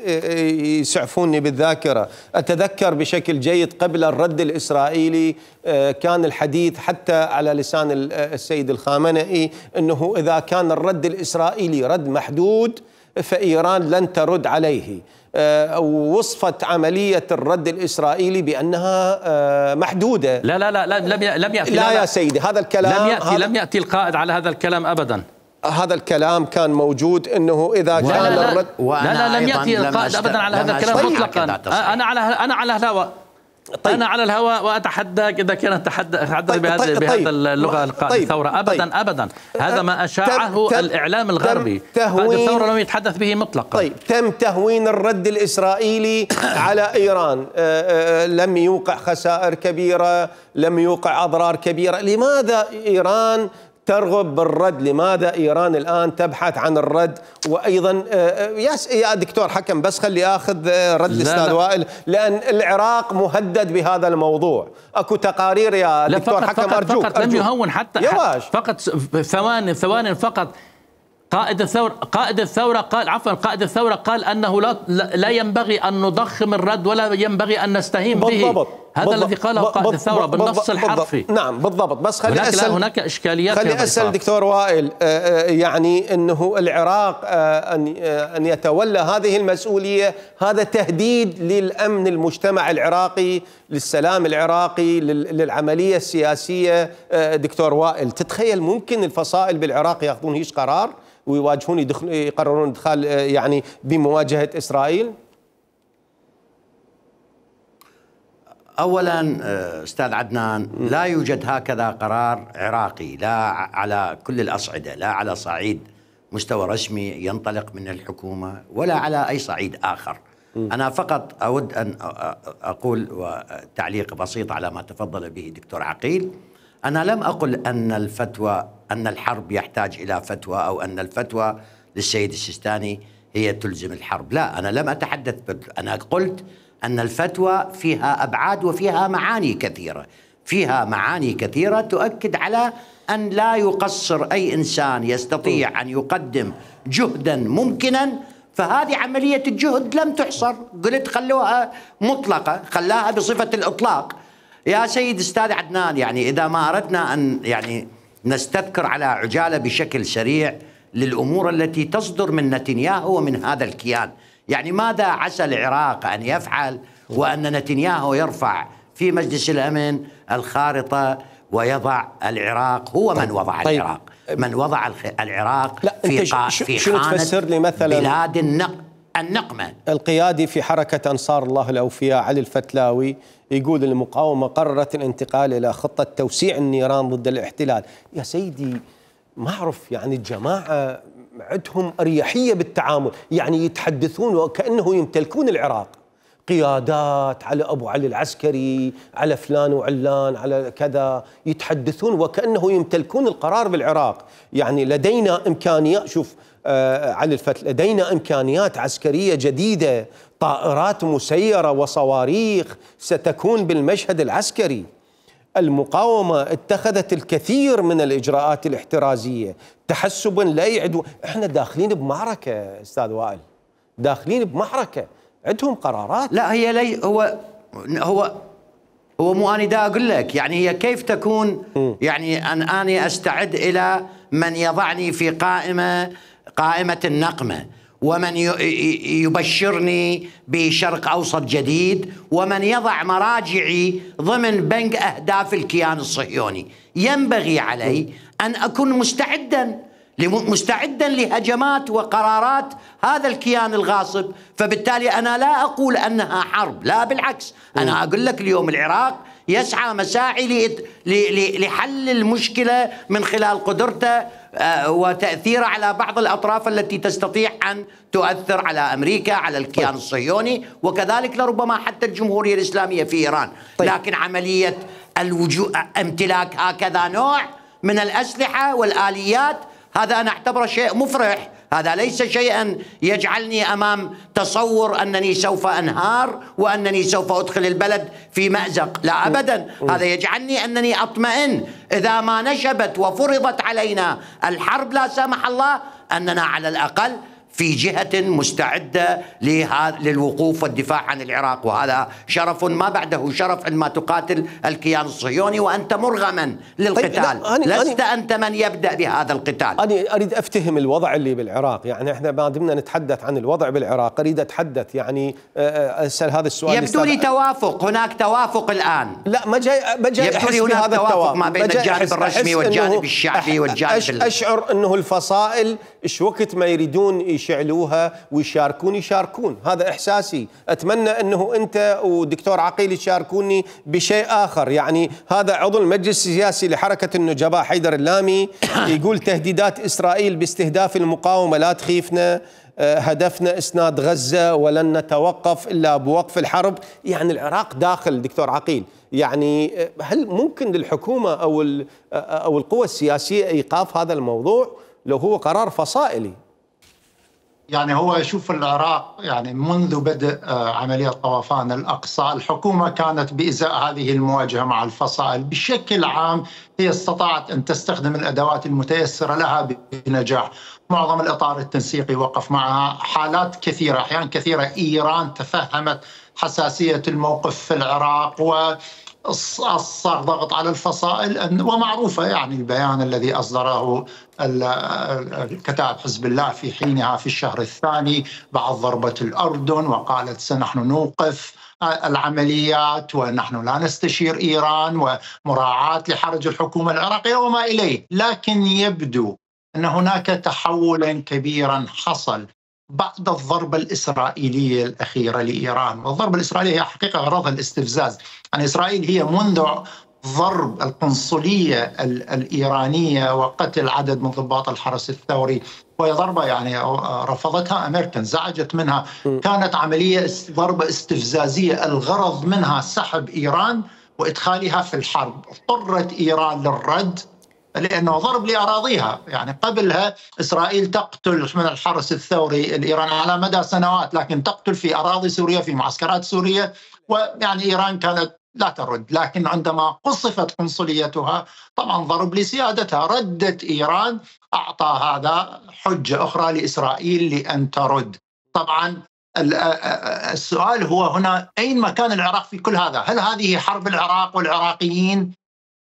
يسعفوني بالذاكرة، أتذكر بشكل جيد قبل الرد الإسرائيلي كان الحديث حتى على لسان السيد الخامنئي أنه إذا كان الرد الإسرائيلي رد محدود فإيران لن ترد عليه. وصفت عملية الرد الإسرائيلي بأنها محدودة. لا لا لا لم لم يأتي لا, لا يا سيدي هذا الكلام لم يأتي لم يأتي القائد على هذا الكلام أبدا. هذا الكلام كان موجود أنه إذا كان لا لا الرد لا لا لم يأتي القائد أبدا على هذا الكلام مطلقا. أنا على أنا على الهواء طيب. أنا على الهواء وأتحداك إذا كانت تحدث طيب. بهذا طيب. بهذا اللغة القائد طيب. الثورة أبدا طيب. أبدا هذا ما أشاعه تم الإعلام الغربي. قائد الثورة لم يتحدث به مطلقا. طيب تم تهوين الرد الإسرائيلي على إيران، لم يوقع خسائر كبيرة، لم يوقع أضرار كبيرة. لماذا إيران ترغب بالرد؟ لماذا إيران الآن تبحث عن الرد؟ وأيضا يا دكتور حكم بس خلي أخذ رد الأستاذ وائل، لأن العراق مهدد بهذا الموضوع. أكو تقارير يا دكتور حكم، فقط أرجوك فقط لم يهون حتى, حتى فقط ثواني ثواني فقط. قائد الثورة قائد الثورة قال عفوا قائد الثورة قال أنه لا لا ينبغي أن نضخم الرد ولا ينبغي أن نستهين به. بالضبط. هذا بالضبط. الذي قاله قائد الثورة بالنص الحرفي. نعم بالضبط. بس خلي هناك أسأل هناك إشكاليات. خلي أسأل دكتور وائل، يعني أنه العراق أن أن يتولى هذه المسؤولية هذا تهديد للأمن المجتمع العراقي، للسلام العراقي، للعملية السياسية. دكتور وائل، تتخيل ممكن الفصائل بالعراق يأخذون هيش قرار ويواجهون يدخل يقررون ادخال يعني بمواجهة إسرائيل؟ أولا أستاذ عدنان، لا يوجد هكذا قرار عراقي، لا على كل الأصعدة، لا على صعيد مستوى رسمي ينطلق من الحكومة ولا على أي صعيد آخر. أنا فقط أود أن أقول تعليق بسيط على ما تفضل به دكتور عقيل. أنا لم أقل أن الفتوى أن الحرب يحتاج إلى فتوى أو أن الفتوى للسيد السيستاني هي تلزم الحرب، لا، أنا لم أتحدث. أنا قلت أن الفتوى فيها أبعاد وفيها معاني كثيرة، فيها معاني كثيرة تؤكد على أن لا يقصر أي إنسان يستطيع أن يقدم جهدا ممكنا، فهذه عملية الجهد لم تحصر. قلت خلوها مطلقة، خلاها بصفة الإطلاق. يا سيد أستاذ عدنان، يعني إذا ما أردنا أن يعني نستذكر على عجالة بشكل سريع للأمور التي تصدر من نتنياهو ومن هذا الكيان، يعني ماذا عسى العراق أن يفعل وأن نتنياهو يرفع في مجلس الأمن الخارطة ويضع العراق، هو من وضع طيب. العراق من وضع العراق في, قا في خانة بلاد النق النقمة. القيادي في حركة أنصار الله الأوفياء علي الفتلاوي يقول المقاومة قررت الانتقال إلى خطة توسيع النيران ضد الاحتلال. يا سيدي ما أعرف، يعني الجماعة عندهم أريحية بالتعامل، يعني يتحدثون وكأنه يمتلكون العراق، قيادات على أبو علي العسكري، على فلان وعلان، على كذا، يتحدثون وكأنه يمتلكون القرار بالعراق. يعني لدينا إمكانيات، شوف آه علي الفتل، لدينا إمكانيات عسكرية جديدة، طائرات مسيرة وصواريخ ستكون بالمشهد العسكري. المقاومة اتخذت الكثير من الإجراءات الاحترازية تحسبا لا يعدو. احنا داخلين بمعركة استاذ وائل، داخلين بمعركة، عندهم قرارات. لا هي لي هو هو هو مو أنا دا أقول لك، يعني هي كيف تكون م. يعني أن أنا أستعد إلى من يضعني في قائمة قائمة النقمة، ومن يبشرني بشرق أوسط جديد، ومن يضع مراجعي ضمن بنك أهداف الكيان الصهيوني. ينبغي علي أن أكون مستعدا مستعدا لهجمات وقرارات هذا الكيان الغاصب. فبالتالي أنا لا أقول أنها حرب، لا بالعكس، أنا أقول لك اليوم العراق يسعى مساعي لحل المشكلة من خلال قدرته وتأثيره على بعض الأطراف التي تستطيع أن تؤثر على أمريكا، على الكيان الصهيوني، وكذلك لربما حتى الجمهورية الإسلامية في إيران. لكن عملية الوجود امتلاك هكذا نوع من الأسلحة والآليات، هذا أنا أعتبره شيء مفرح، هذا ليس شيئا يجعلني أمام تصور أنني سوف أنهار وأنني سوف أدخل البلد في مأزق، لا أبدا. هذا يجعلني أنني أطمئن إذا ما نشبت وفرضت علينا الحرب لا سمح الله أننا على الأقل في جهة مستعدة للوقوف والدفاع عن العراق، وهذا شرف ما بعده شرف عندما تقاتل الكيان الصهيوني وأنت مرغما للقتال. طيب أنا لست أنا أنت من يبدأ بهذا القتال. أنا أريد أفتهم الوضع اللي بالعراق، يعني إحنا ما دمنا نتحدث عن الوضع بالعراق أريد أتحدث، يعني أسأل هذا السؤال. يبدو لي توافق، هناك توافق الآن. لا ما جاي ما جاي يبدو لي هناك توافق ما بين الجانب الرسمي والجانب الشعبي والجانب أش أشعر أنه الفصائل إيش وقت ما يريدون يشعلوها ويشاركون يشاركون، هذا إحساسي. أتمنى أنه أنت ودكتور عقيل يشاركوني بشيء آخر. يعني هذا عضو المجلس السياسي لحركة النجباء حيدر اللامي يقول تهديدات إسرائيل باستهداف المقاومة لا تخيفنا. هدفنا إسناد غزة ولن نتوقف إلا بوقف الحرب. يعني العراق داخل دكتور عقيل، يعني هل ممكن للحكومة أو أو القوى السياسية إيقاف هذا الموضوع لو هو قرار فصائلي؟ يعني هو يشوف العراق يعني منذ بدء عملية طوفان الأقصى الحكومة كانت بإزاء هذه المواجهة مع الفصائل بشكل عام، هي استطاعت أن تستخدم الأدوات المتيسرة لها بنجاح. معظم الإطار التنسيقي وقف معها، حالات كثيرة أحيان كثيرة إيران تفهمت حساسية الموقف في العراق و صار ضغط على الفصائل، ومعروفة يعني البيان الذي أصدره كتاب حزب الله في حينها في الشهر الثاني بعد ضربة الأردن، وقالت سنحن نوقف العمليات ونحن لا نستشير إيران ومراعاة لحرج الحكومة العراقية وما إليه. لكن يبدو أن هناك تحول كبيرا حصل بعد الضربة الإسرائيلية الأخيرة لإيران. والضربة الإسرائيلية هي حقيقة غرضها الاستفزاز. يعني إسرائيل هي منذ ضرب القنصلية الإيرانية وقتل عدد من ضباط الحرس الثوري، وهي ضربة يعني رفضتها أمريكا، انزعجت منها، كانت عملية ضربة استفزازية الغرض منها سحب إيران وإدخالها في الحرب. اضطرت إيران للرد لأنه ضرب لأراضيها. يعني قبلها إسرائيل تقتل من الحرس الثوري الإيراني على مدى سنوات، لكن تقتل في أراضي سوريا في معسكرات سوريا، ويعني إيران كانت لا ترد. لكن عندما قصفت قنصليتها طبعا ضرب لسيادتها، ردت إيران، أعطى هذا حجة أخرى لإسرائيل لأن ترد. طبعا السؤال هو هنا أين مكان العراق في كل هذا؟ هل هذه حرب العراق والعراقيين؟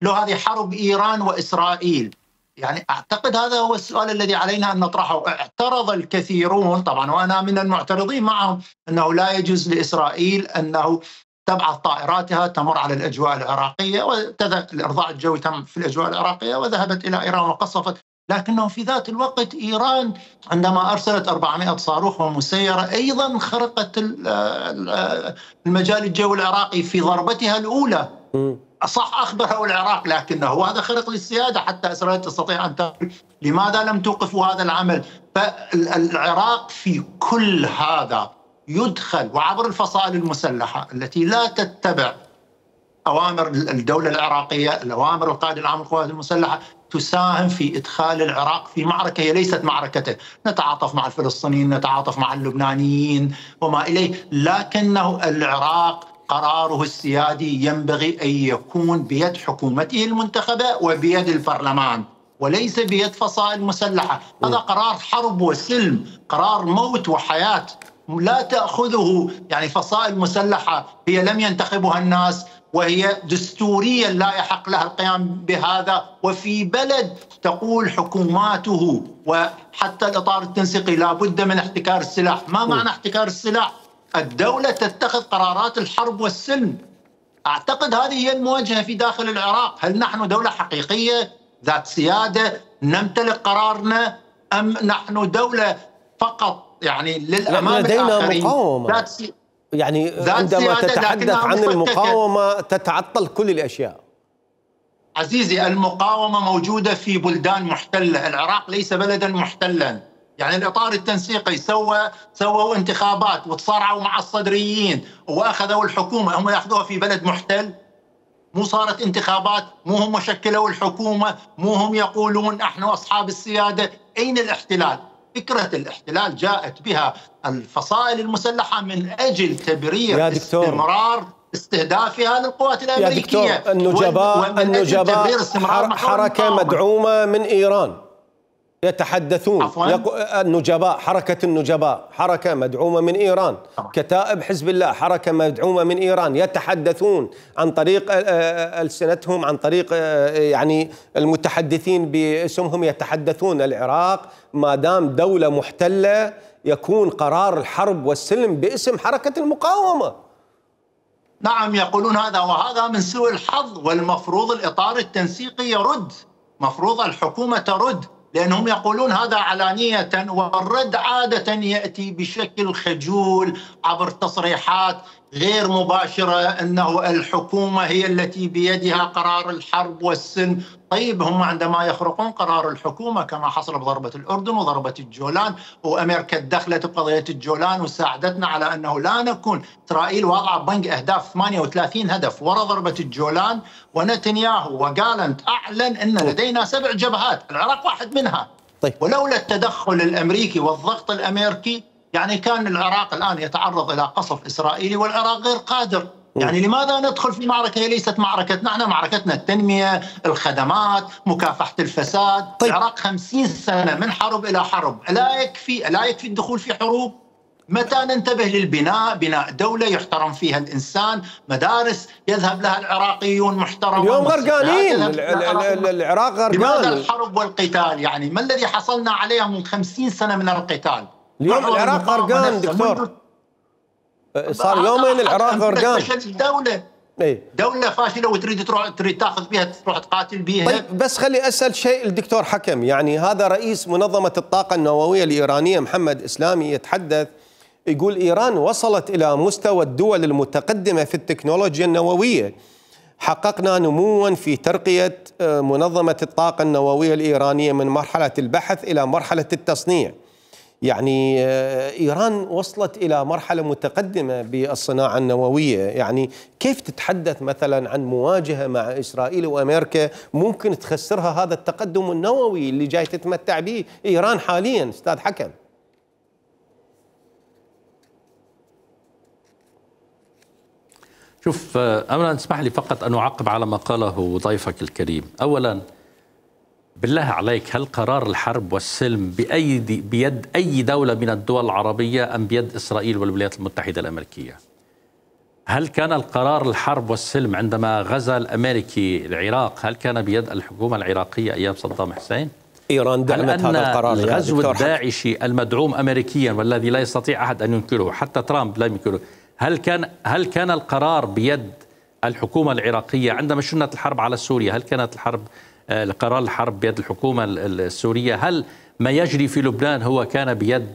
لو هذه حرب إيران وإسرائيل؟ يعني أعتقد هذا هو السؤال الذي علينا أن نطرحه. اعترض الكثيرون طبعا وأنا من المعترضين معهم أنه لا يجوز لإسرائيل أنه تبعث طائراتها تمر على الأجواء العراقية، والإرضاع الجوي تم في الأجواء العراقية وذهبت إلى إيران وقصفت. لكنه في ذات الوقت إيران عندما أرسلت أربعمائة صاروخ ومسيرة أيضا خرقت المجال الجوي العراقي في ضربتها الأولى. صح أخبره العراق، لكنه هذا خرق للسيادة حتى إسرائيل تستطيع أن تقول لماذا لم توقفوا هذا العمل؟ فالعراق في كل هذا يدخل وعبر الفصائل المسلحة التي لا تتبع أوامر الدولة العراقية، الأوامر القائد العام للقوات المسلحة، تساهم في إدخال العراق في معركة هي ليست معركته. نتعاطف مع الفلسطينيين، نتعاطف مع اللبنانيين وما إليه، لكنه العراق قراره السيادي ينبغي أن يكون بيد حكومته المنتخبة وبيد البرلمان، وليس بيد فصائل مسلحة. هذا قرار حرب وسلم، قرار موت وحياة، لا تأخذه يعني فصائل مسلحة هي لم ينتخبها الناس، وهي دستوريا لا يحق لها القيام بهذا، وفي بلد تقول حكوماته وحتى الإطار التنسيقي لا بد من احتكار السلاح. ما معنى احتكار السلاح؟ الدولة تتخذ قرارات الحرب والسلم. أعتقد هذه هي المواجهة في داخل العراق. هل نحن دولة حقيقية ذات سيادة نمتلك قرارنا، أم نحن دولة فقط يعني للأمام لدينا الآخرين؟ مقاومة. يعني عندما تتحدث عن المقاومة تتعطل كل الأشياء. عزيزي، المقاومة موجودة في بلدان محتلة، العراق ليس بلدا محتلا. يعني الإطار التنسيقي سوى سووا انتخابات وتصارعوا مع الصدريين وأخذوا الحكومة، هم يأخذوها في بلد محتل؟ مو صارت انتخابات؟ مو هم شكلوا الحكومة؟ مو هم يقولون نحن أصحاب السيادة؟ أين الاحتلال؟ فكرة الاحتلال جاءت بها الفصائل المسلحة من أجل تبرير استمرار استهدافها للقوات الأمريكية. يا دكتور، النجباء النجباء حركة مدعومة من إيران يتحدثون. النجباء، حركة النجباء حركة مدعومة من إيران. كتائب حزب الله حركة مدعومة من إيران، يتحدثون عن طريق ألسنتهم، عن طريق يعني المتحدثين باسمهم يتحدثون العراق ما دام دولة محتلة يكون قرار الحرب والسلم باسم حركة المقاومة. نعم يقولون هذا، وهذا من سوء الحظ، والمفروض الإطار التنسيقي يرد، مفروض الحكومة ترد، لأنهم يقولون هذا علانية، والرد عادة يأتي بشكل خجول عبر تصريحات غير مباشرة أنه الحكومة هي التي بيدها قرار الحرب والسلم. طيب هم عندما يخرقون قرار الحكومة كما حصل بضربة الأردن وضربة الجولان، وأمريكا دخلت بقضية الجولان وساعدتنا على أنه لا نكون، إسرائيل واضعة بنك أهداف ثمانية وثلاثين هدف وراء ضربة الجولان، ونتنياهو وجالنت أعلن أن لدينا سبع جبهات، العراق واحد منها. طيب. ولولا التدخل الأمريكي والضغط الأمريكي يعني كان العراق الآن يتعرض إلى قصف إسرائيلي والعراق غير قادر. يعني لماذا ندخل في معركة هي ليست معركتنا؟ احنا معركتنا التنمية، الخدمات، مكافحة الفساد. طيب. العراق خمسين سنة من حرب إلى حرب، لا يكفي لا يكفي الدخول في حروب؟ متى ننتبه للبناء؟ بناء دولة يحترم فيها الإنسان، مدارس يذهب لها العراقيون محترمة. اليوم غرقانين، العراق غرقان. لماذا الحرب والقتال؟ يعني ما الذي حصلنا عليه من خمسين سنة من القتال؟ اليوم العراق غرقان دكتور، صار يومين العراق غرقان. فشل دولة ايه؟ دولة فاشلة وتريد تروح تريد تاخذ بها تروح تقاتل بها. طيب بس خلي اسال شيء الدكتور حكم، يعني هذا رئيس منظمة الطاقة النووية الإيرانية محمد إسلامي يتحدث، يقول إيران وصلت إلى مستوى الدول المتقدمة في التكنولوجيا النووية، حققنا نموا في ترقية منظمة الطاقة النووية الإيرانية من مرحلة البحث إلى مرحلة التصنيع. يعني إيران وصلت إلى مرحلة متقدمة بالصناعة النووية، يعني كيف تتحدث مثلا عن مواجهة مع إسرائيل وأمريكا ممكن تخسرها هذا التقدم النووي اللي جاي تتمتع به إيران حاليا أستاذ حكم؟ شوف، أولا اسمح لي فقط أن أعقب على ما قاله ضيفك الكريم. أولا بالله عليك، هل قرار الحرب والسلم بأيدي بيد أي دولة من الدول العربية أم بيد إسرائيل والولايات المتحدة الأمريكية؟ هل كان القرار الحرب والسلم عندما غزا الأمريكي العراق هل كان بيد الحكومة العراقية أيام صدام حسين؟ إيران دعمت هذا القرار. الغزو الداعشي المدعوم أمريكيا والذي لا يستطيع أحد أن ينكره، حتى ترامب لا ينكره، هل كان هل كان القرار بيد الحكومة العراقية عندما شنت الحرب على سوريا؟ هل كانت الحرب قرار الحرب بيد الحكومة السورية؟ هل ما يجري في لبنان هو كان بيد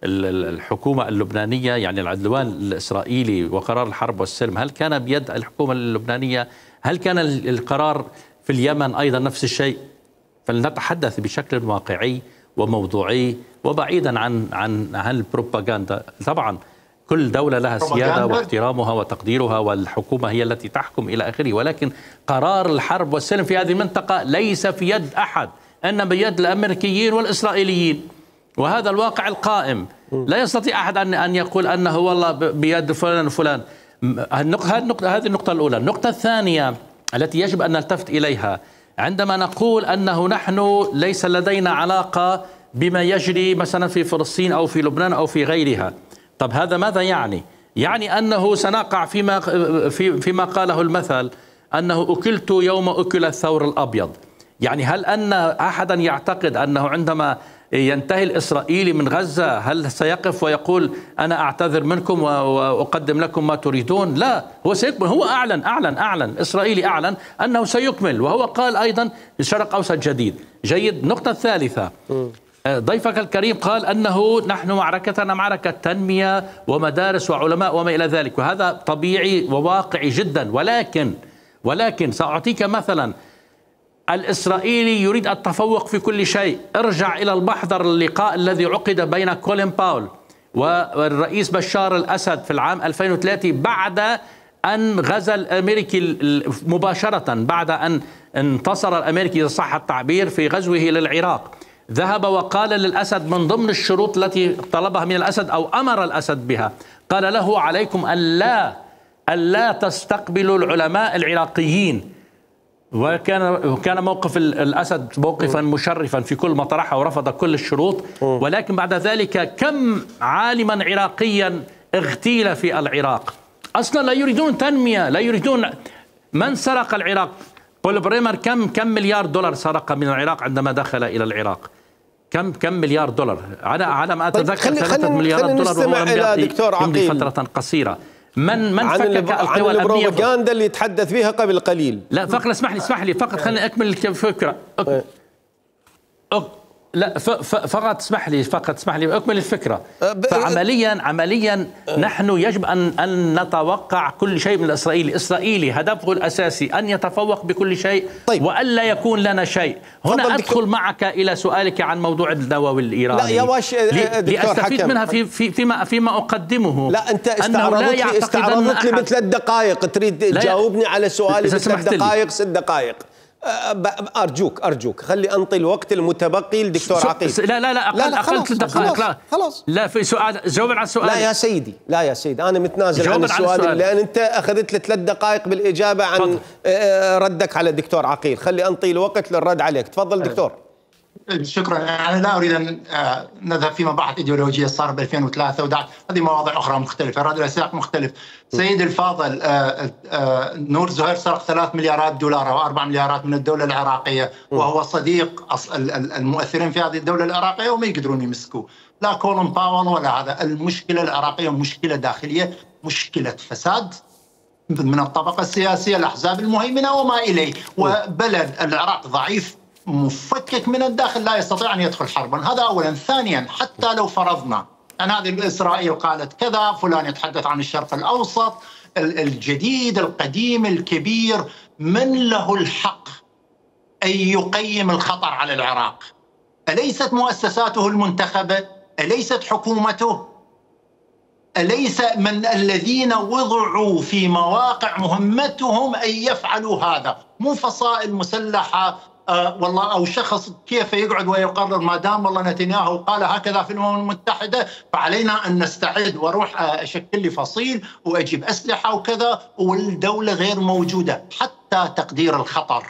الحكومة اللبنانية؟ يعني العدوان الإسرائيلي وقرار الحرب والسلم هل كان بيد الحكومة اللبنانية؟ هل كان القرار في اليمن أيضا نفس الشيء؟ فلنتحدث بشكل واقعي وموضوعي وبعيدا عن عن عن البروباغندا. طبعا كل دولة لها سيادة واحترامها وتقديرها، والحكومة هي التي تحكم إلى آخره، ولكن قرار الحرب والسلم في هذه المنطقة ليس في يد أحد، إنما بيد الأمريكيين والإسرائيليين، وهذا الواقع القائم. لا يستطيع أحد أن أن يقول أنه والله بيد فلان وفلان. هذه النقطة الأولى. النقطة الثانية التي يجب أن نلتفت إليها عندما نقول أنه نحن ليس لدينا علاقة بما يجري مثلا في فلسطين أو في لبنان أو في غيرها. طب هذا ماذا يعني؟ يعني أنه سنقع فيما في فيما قاله المثل أنه أكلت يوم أكل الثور الأبيض. يعني هل أن أحدا يعتقد أنه عندما ينتهي الإسرائيلي من غزة هل سيقف ويقول أنا أعتذر منكم وأقدم لكم ما تريدون؟ لا، هو سيكمل. هو أعلن أعلن أعلن إسرائيلي أعلن أنه سيكمل، وهو قال أيضا شرق أوسط جديد. جيد. النقطة الثالثة، ضيفك الكريم قال أنه نحن معركتنا معركة تنمية ومدارس وعلماء وما إلى ذلك، وهذا طبيعي وواقعي جدا، ولكن ولكن سأعطيك مثلا. الإسرائيلي يريد التفوق في كل شيء. ارجع إلى المحضر اللقاء الذي عقد بين كولين باول والرئيس بشار الأسد في العام ألفين وثلاثة بعد أن غزا الأمريكي مباشرة، بعد أن انتصر الأمريكي إذا صح التعبير في غزوه للعراق. ذهب وقال للأسد من ضمن الشروط التي طلبها من الأسد أو أمر الأسد بها، قال له عليكم أن لا أن لا تستقبلوا العلماء العراقيين. وكان كان موقف الأسد موقفا مشرفا في كل ما طرحه ورفض كل الشروط. ولكن بعد ذلك كم عالما عراقيا اغتيل في العراق. أصلا لا يريدون تنمية، لا يريدون. من سرق العراق؟ بول بريمر كم كم مليار دولار سرق من العراق عندما دخل إلى العراق؟ كم كم مليار دولار؟ على على ما أتذكر ثلاثة مليارات دولار، وهو لم يمضي فترة قصيرة. من من فكك القوى الأمنية؟ عن البروباغندا اللي يتحدث فيها قبل قليل. لا فقط اسمح لي اسمح لي فقط خليني أكمل الفكرة. لا فقط اسمح لي فقط اسمح لي اكمل الفكره. فعمليا عمليا نحن يجب ان ان نتوقع كل شيء من الاسرائيلي، الاسرائيلي هدفه الاساسي ان يتفوق بكل شيء. طيب. والا يكون لنا شيء. هنا ادخل معك الى سؤالك عن موضوع النووي الايراني. لا يا واش لاستفيد منها في في فيما فيما اقدمه. لا انت استعرضت لي استعرضت لي بثلاث دقائق، تريد تجاوبني على سؤالي بثلاث دقائق ست دقائق. أرجوك أرجوك خلي أنطي الوقت المتبقي للدكتور عقيل. لا لا لا أقل لا لا أقل ثلاث دقائق. لا خلاص لا في سؤال جاوب على السؤال. لا يا سيدي لا يا سيدي أنا متنازل عن السؤال, السؤال لأن أنت أخذت لي ثلاث دقائق بالإجابة عن فضل. ردك على الدكتور عقيل. خلي أنطي الوقت للرد عليك. تفضل دكتور. شكرا. أنا لا أريد أن نذهب في مباحث إيديولوجية صار ب ألفين وثلاثة ودعت هذه مواضيع أخرى مختلفة، هذا سياق مختلف. سيد الفاضل، نور زهير سرق ثلاث مليارات دولار أو أربع مليارات من الدولة العراقية، وهو صديق المؤثرين في هذه الدولة العراقية وما يقدرون يمسكوه، لا كولن باول ولا هذا. المشكلة العراقية مشكلة داخلية، مشكلة فساد من الطبقة السياسية، الأحزاب المهيمنة وما إليه، وبلد العراق ضعيف مفكك من الداخل لا يستطيع أن يدخل حربا. هذا أولا. ثانيا، حتى لو فرضنا أن هذه إسرائيل قالت كذا، فلان يتحدث عن الشرق الأوسط الجديد القديم الكبير، من له الحق أن يقيم الخطر على العراق؟ أليست مؤسساته المنتخبة؟ أليست حكومته؟ أليس من الذين وضعوا في مواقع مهمتهم أن يفعلوا هذا؟ مو فصائل مسلحة أه والله أو شخص كيف يقعد ويقرر ما دام والله نتنياهو قال هكذا في الأمم المتحدة فعلينا أن نستعد وأروح أشكل لي فصيل وأجيب أسلحة وكذا والدولة غير موجودة. حتى تقدير الخطر،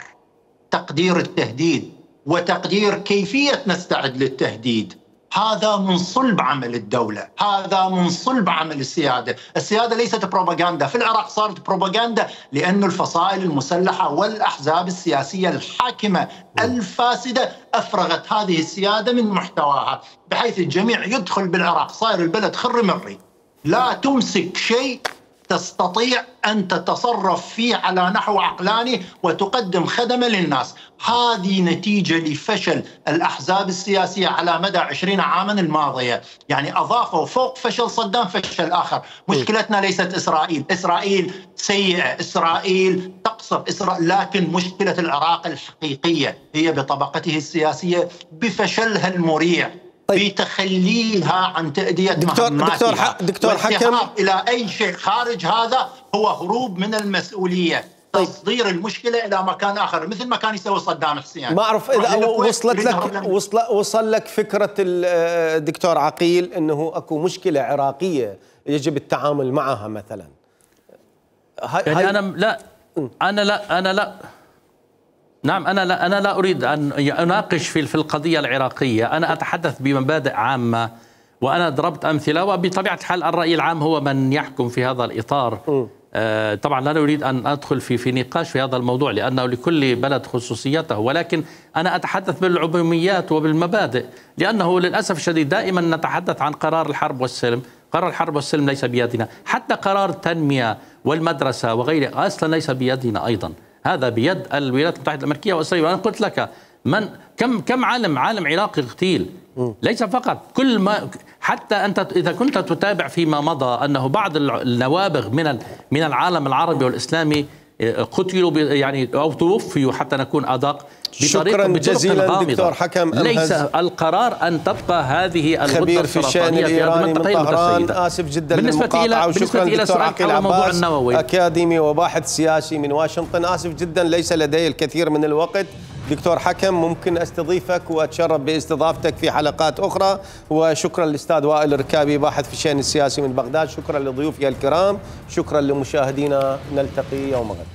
تقدير التهديد وتقدير كيفية نستعد للتهديد، هذا من صلب عمل الدولة، هذا من صلب عمل السيادة. السيادة ليست بروباغندا. في العراق صارت بروباغندا لأن الفصائل المسلحة والأحزاب السياسية الحاكمة الفاسدة أفرغت هذه السيادة من محتواها، بحيث الجميع يدخل بالعراق صار البلد خر مري، لا تمسك شيء تستطيع أن تتصرف فيه على نحو عقلاني وتقدم خدمة للناس. هذه نتيجة لفشل الأحزاب السياسية على مدى عشرين عاما الماضية. يعني أضافوا فوق فشل صدام فشل آخر. مشكلتنا ليست إسرائيل، إسرائيل سيئة، إسرائيل تقصف إسرائيل، لكن مشكلة العراق الحقيقية هي بطبقته السياسية، بفشلها المريع، بتخليها عن تأدية دكتور دكتور دكتور حكم إلى أي شيء خارج هذا هو هروب من المسؤولية. طيب. تصدير المشكلة إلى مكان آخر مثل ما كان يسوي صدام حسين. ما أعرف إذا وصلت لك وصل وصل لك فكرة الدكتور عقيل أنه أكو مشكلة عراقية يجب التعامل معها مثلا. يعني أنا لا أنا لا أنا لا نعم أنا لا أنا لا أريد أن أناقش في في القضية العراقية، أنا أتحدث بمبادئ عامة وأنا ضربت أمثلة، وبطبيعة الحال الرأي العام هو من يحكم في هذا الإطار. آه طبعا لا أريد أن أدخل في في نقاش في هذا الموضوع لأنه لكل بلد خصوصيته، ولكن أنا أتحدث بالعموميات وبالمبادئ، لأنه للأسف الشديد دائما نتحدث عن قرار الحرب والسلم. قرار الحرب والسلم ليس بيدنا، حتى قرار التنمية والمدرسة وغيره أصلا ليس بيدنا أيضا، هذا بيد الولايات المتحدة الأمريكية وإسرائيل. وأنا قلت لك من كم كم عالم عالم عراقي اغتيل، ليس فقط كل ما حتى أنت إذا كنت تتابع فيما مضى أنه بعض النوابغ من من العالم العربي والإسلامي قتلوا يعني أو توفيوا حتى نكون أدق شكرا جزيلا دكتور حكم ليس القرار أن تبقى هذه خبير في الشأن الإيراني من طهران. آسف جدا للمقاطعة وشكرا دكتور عقيل عباس أكاديمي وباحث سياسي من واشنطن. آسف جدا ليس لدي الكثير من الوقت. دكتور حكم ممكن استضيفك واتشرف باستضافتك في حلقات أخرى. وشكرا للأستاذ وائل الركابي باحث في الشأن السياسي من بغداد. شكرا لضيوفي الكرام، شكرا لمشاهدينا، نلتقي يوم غد.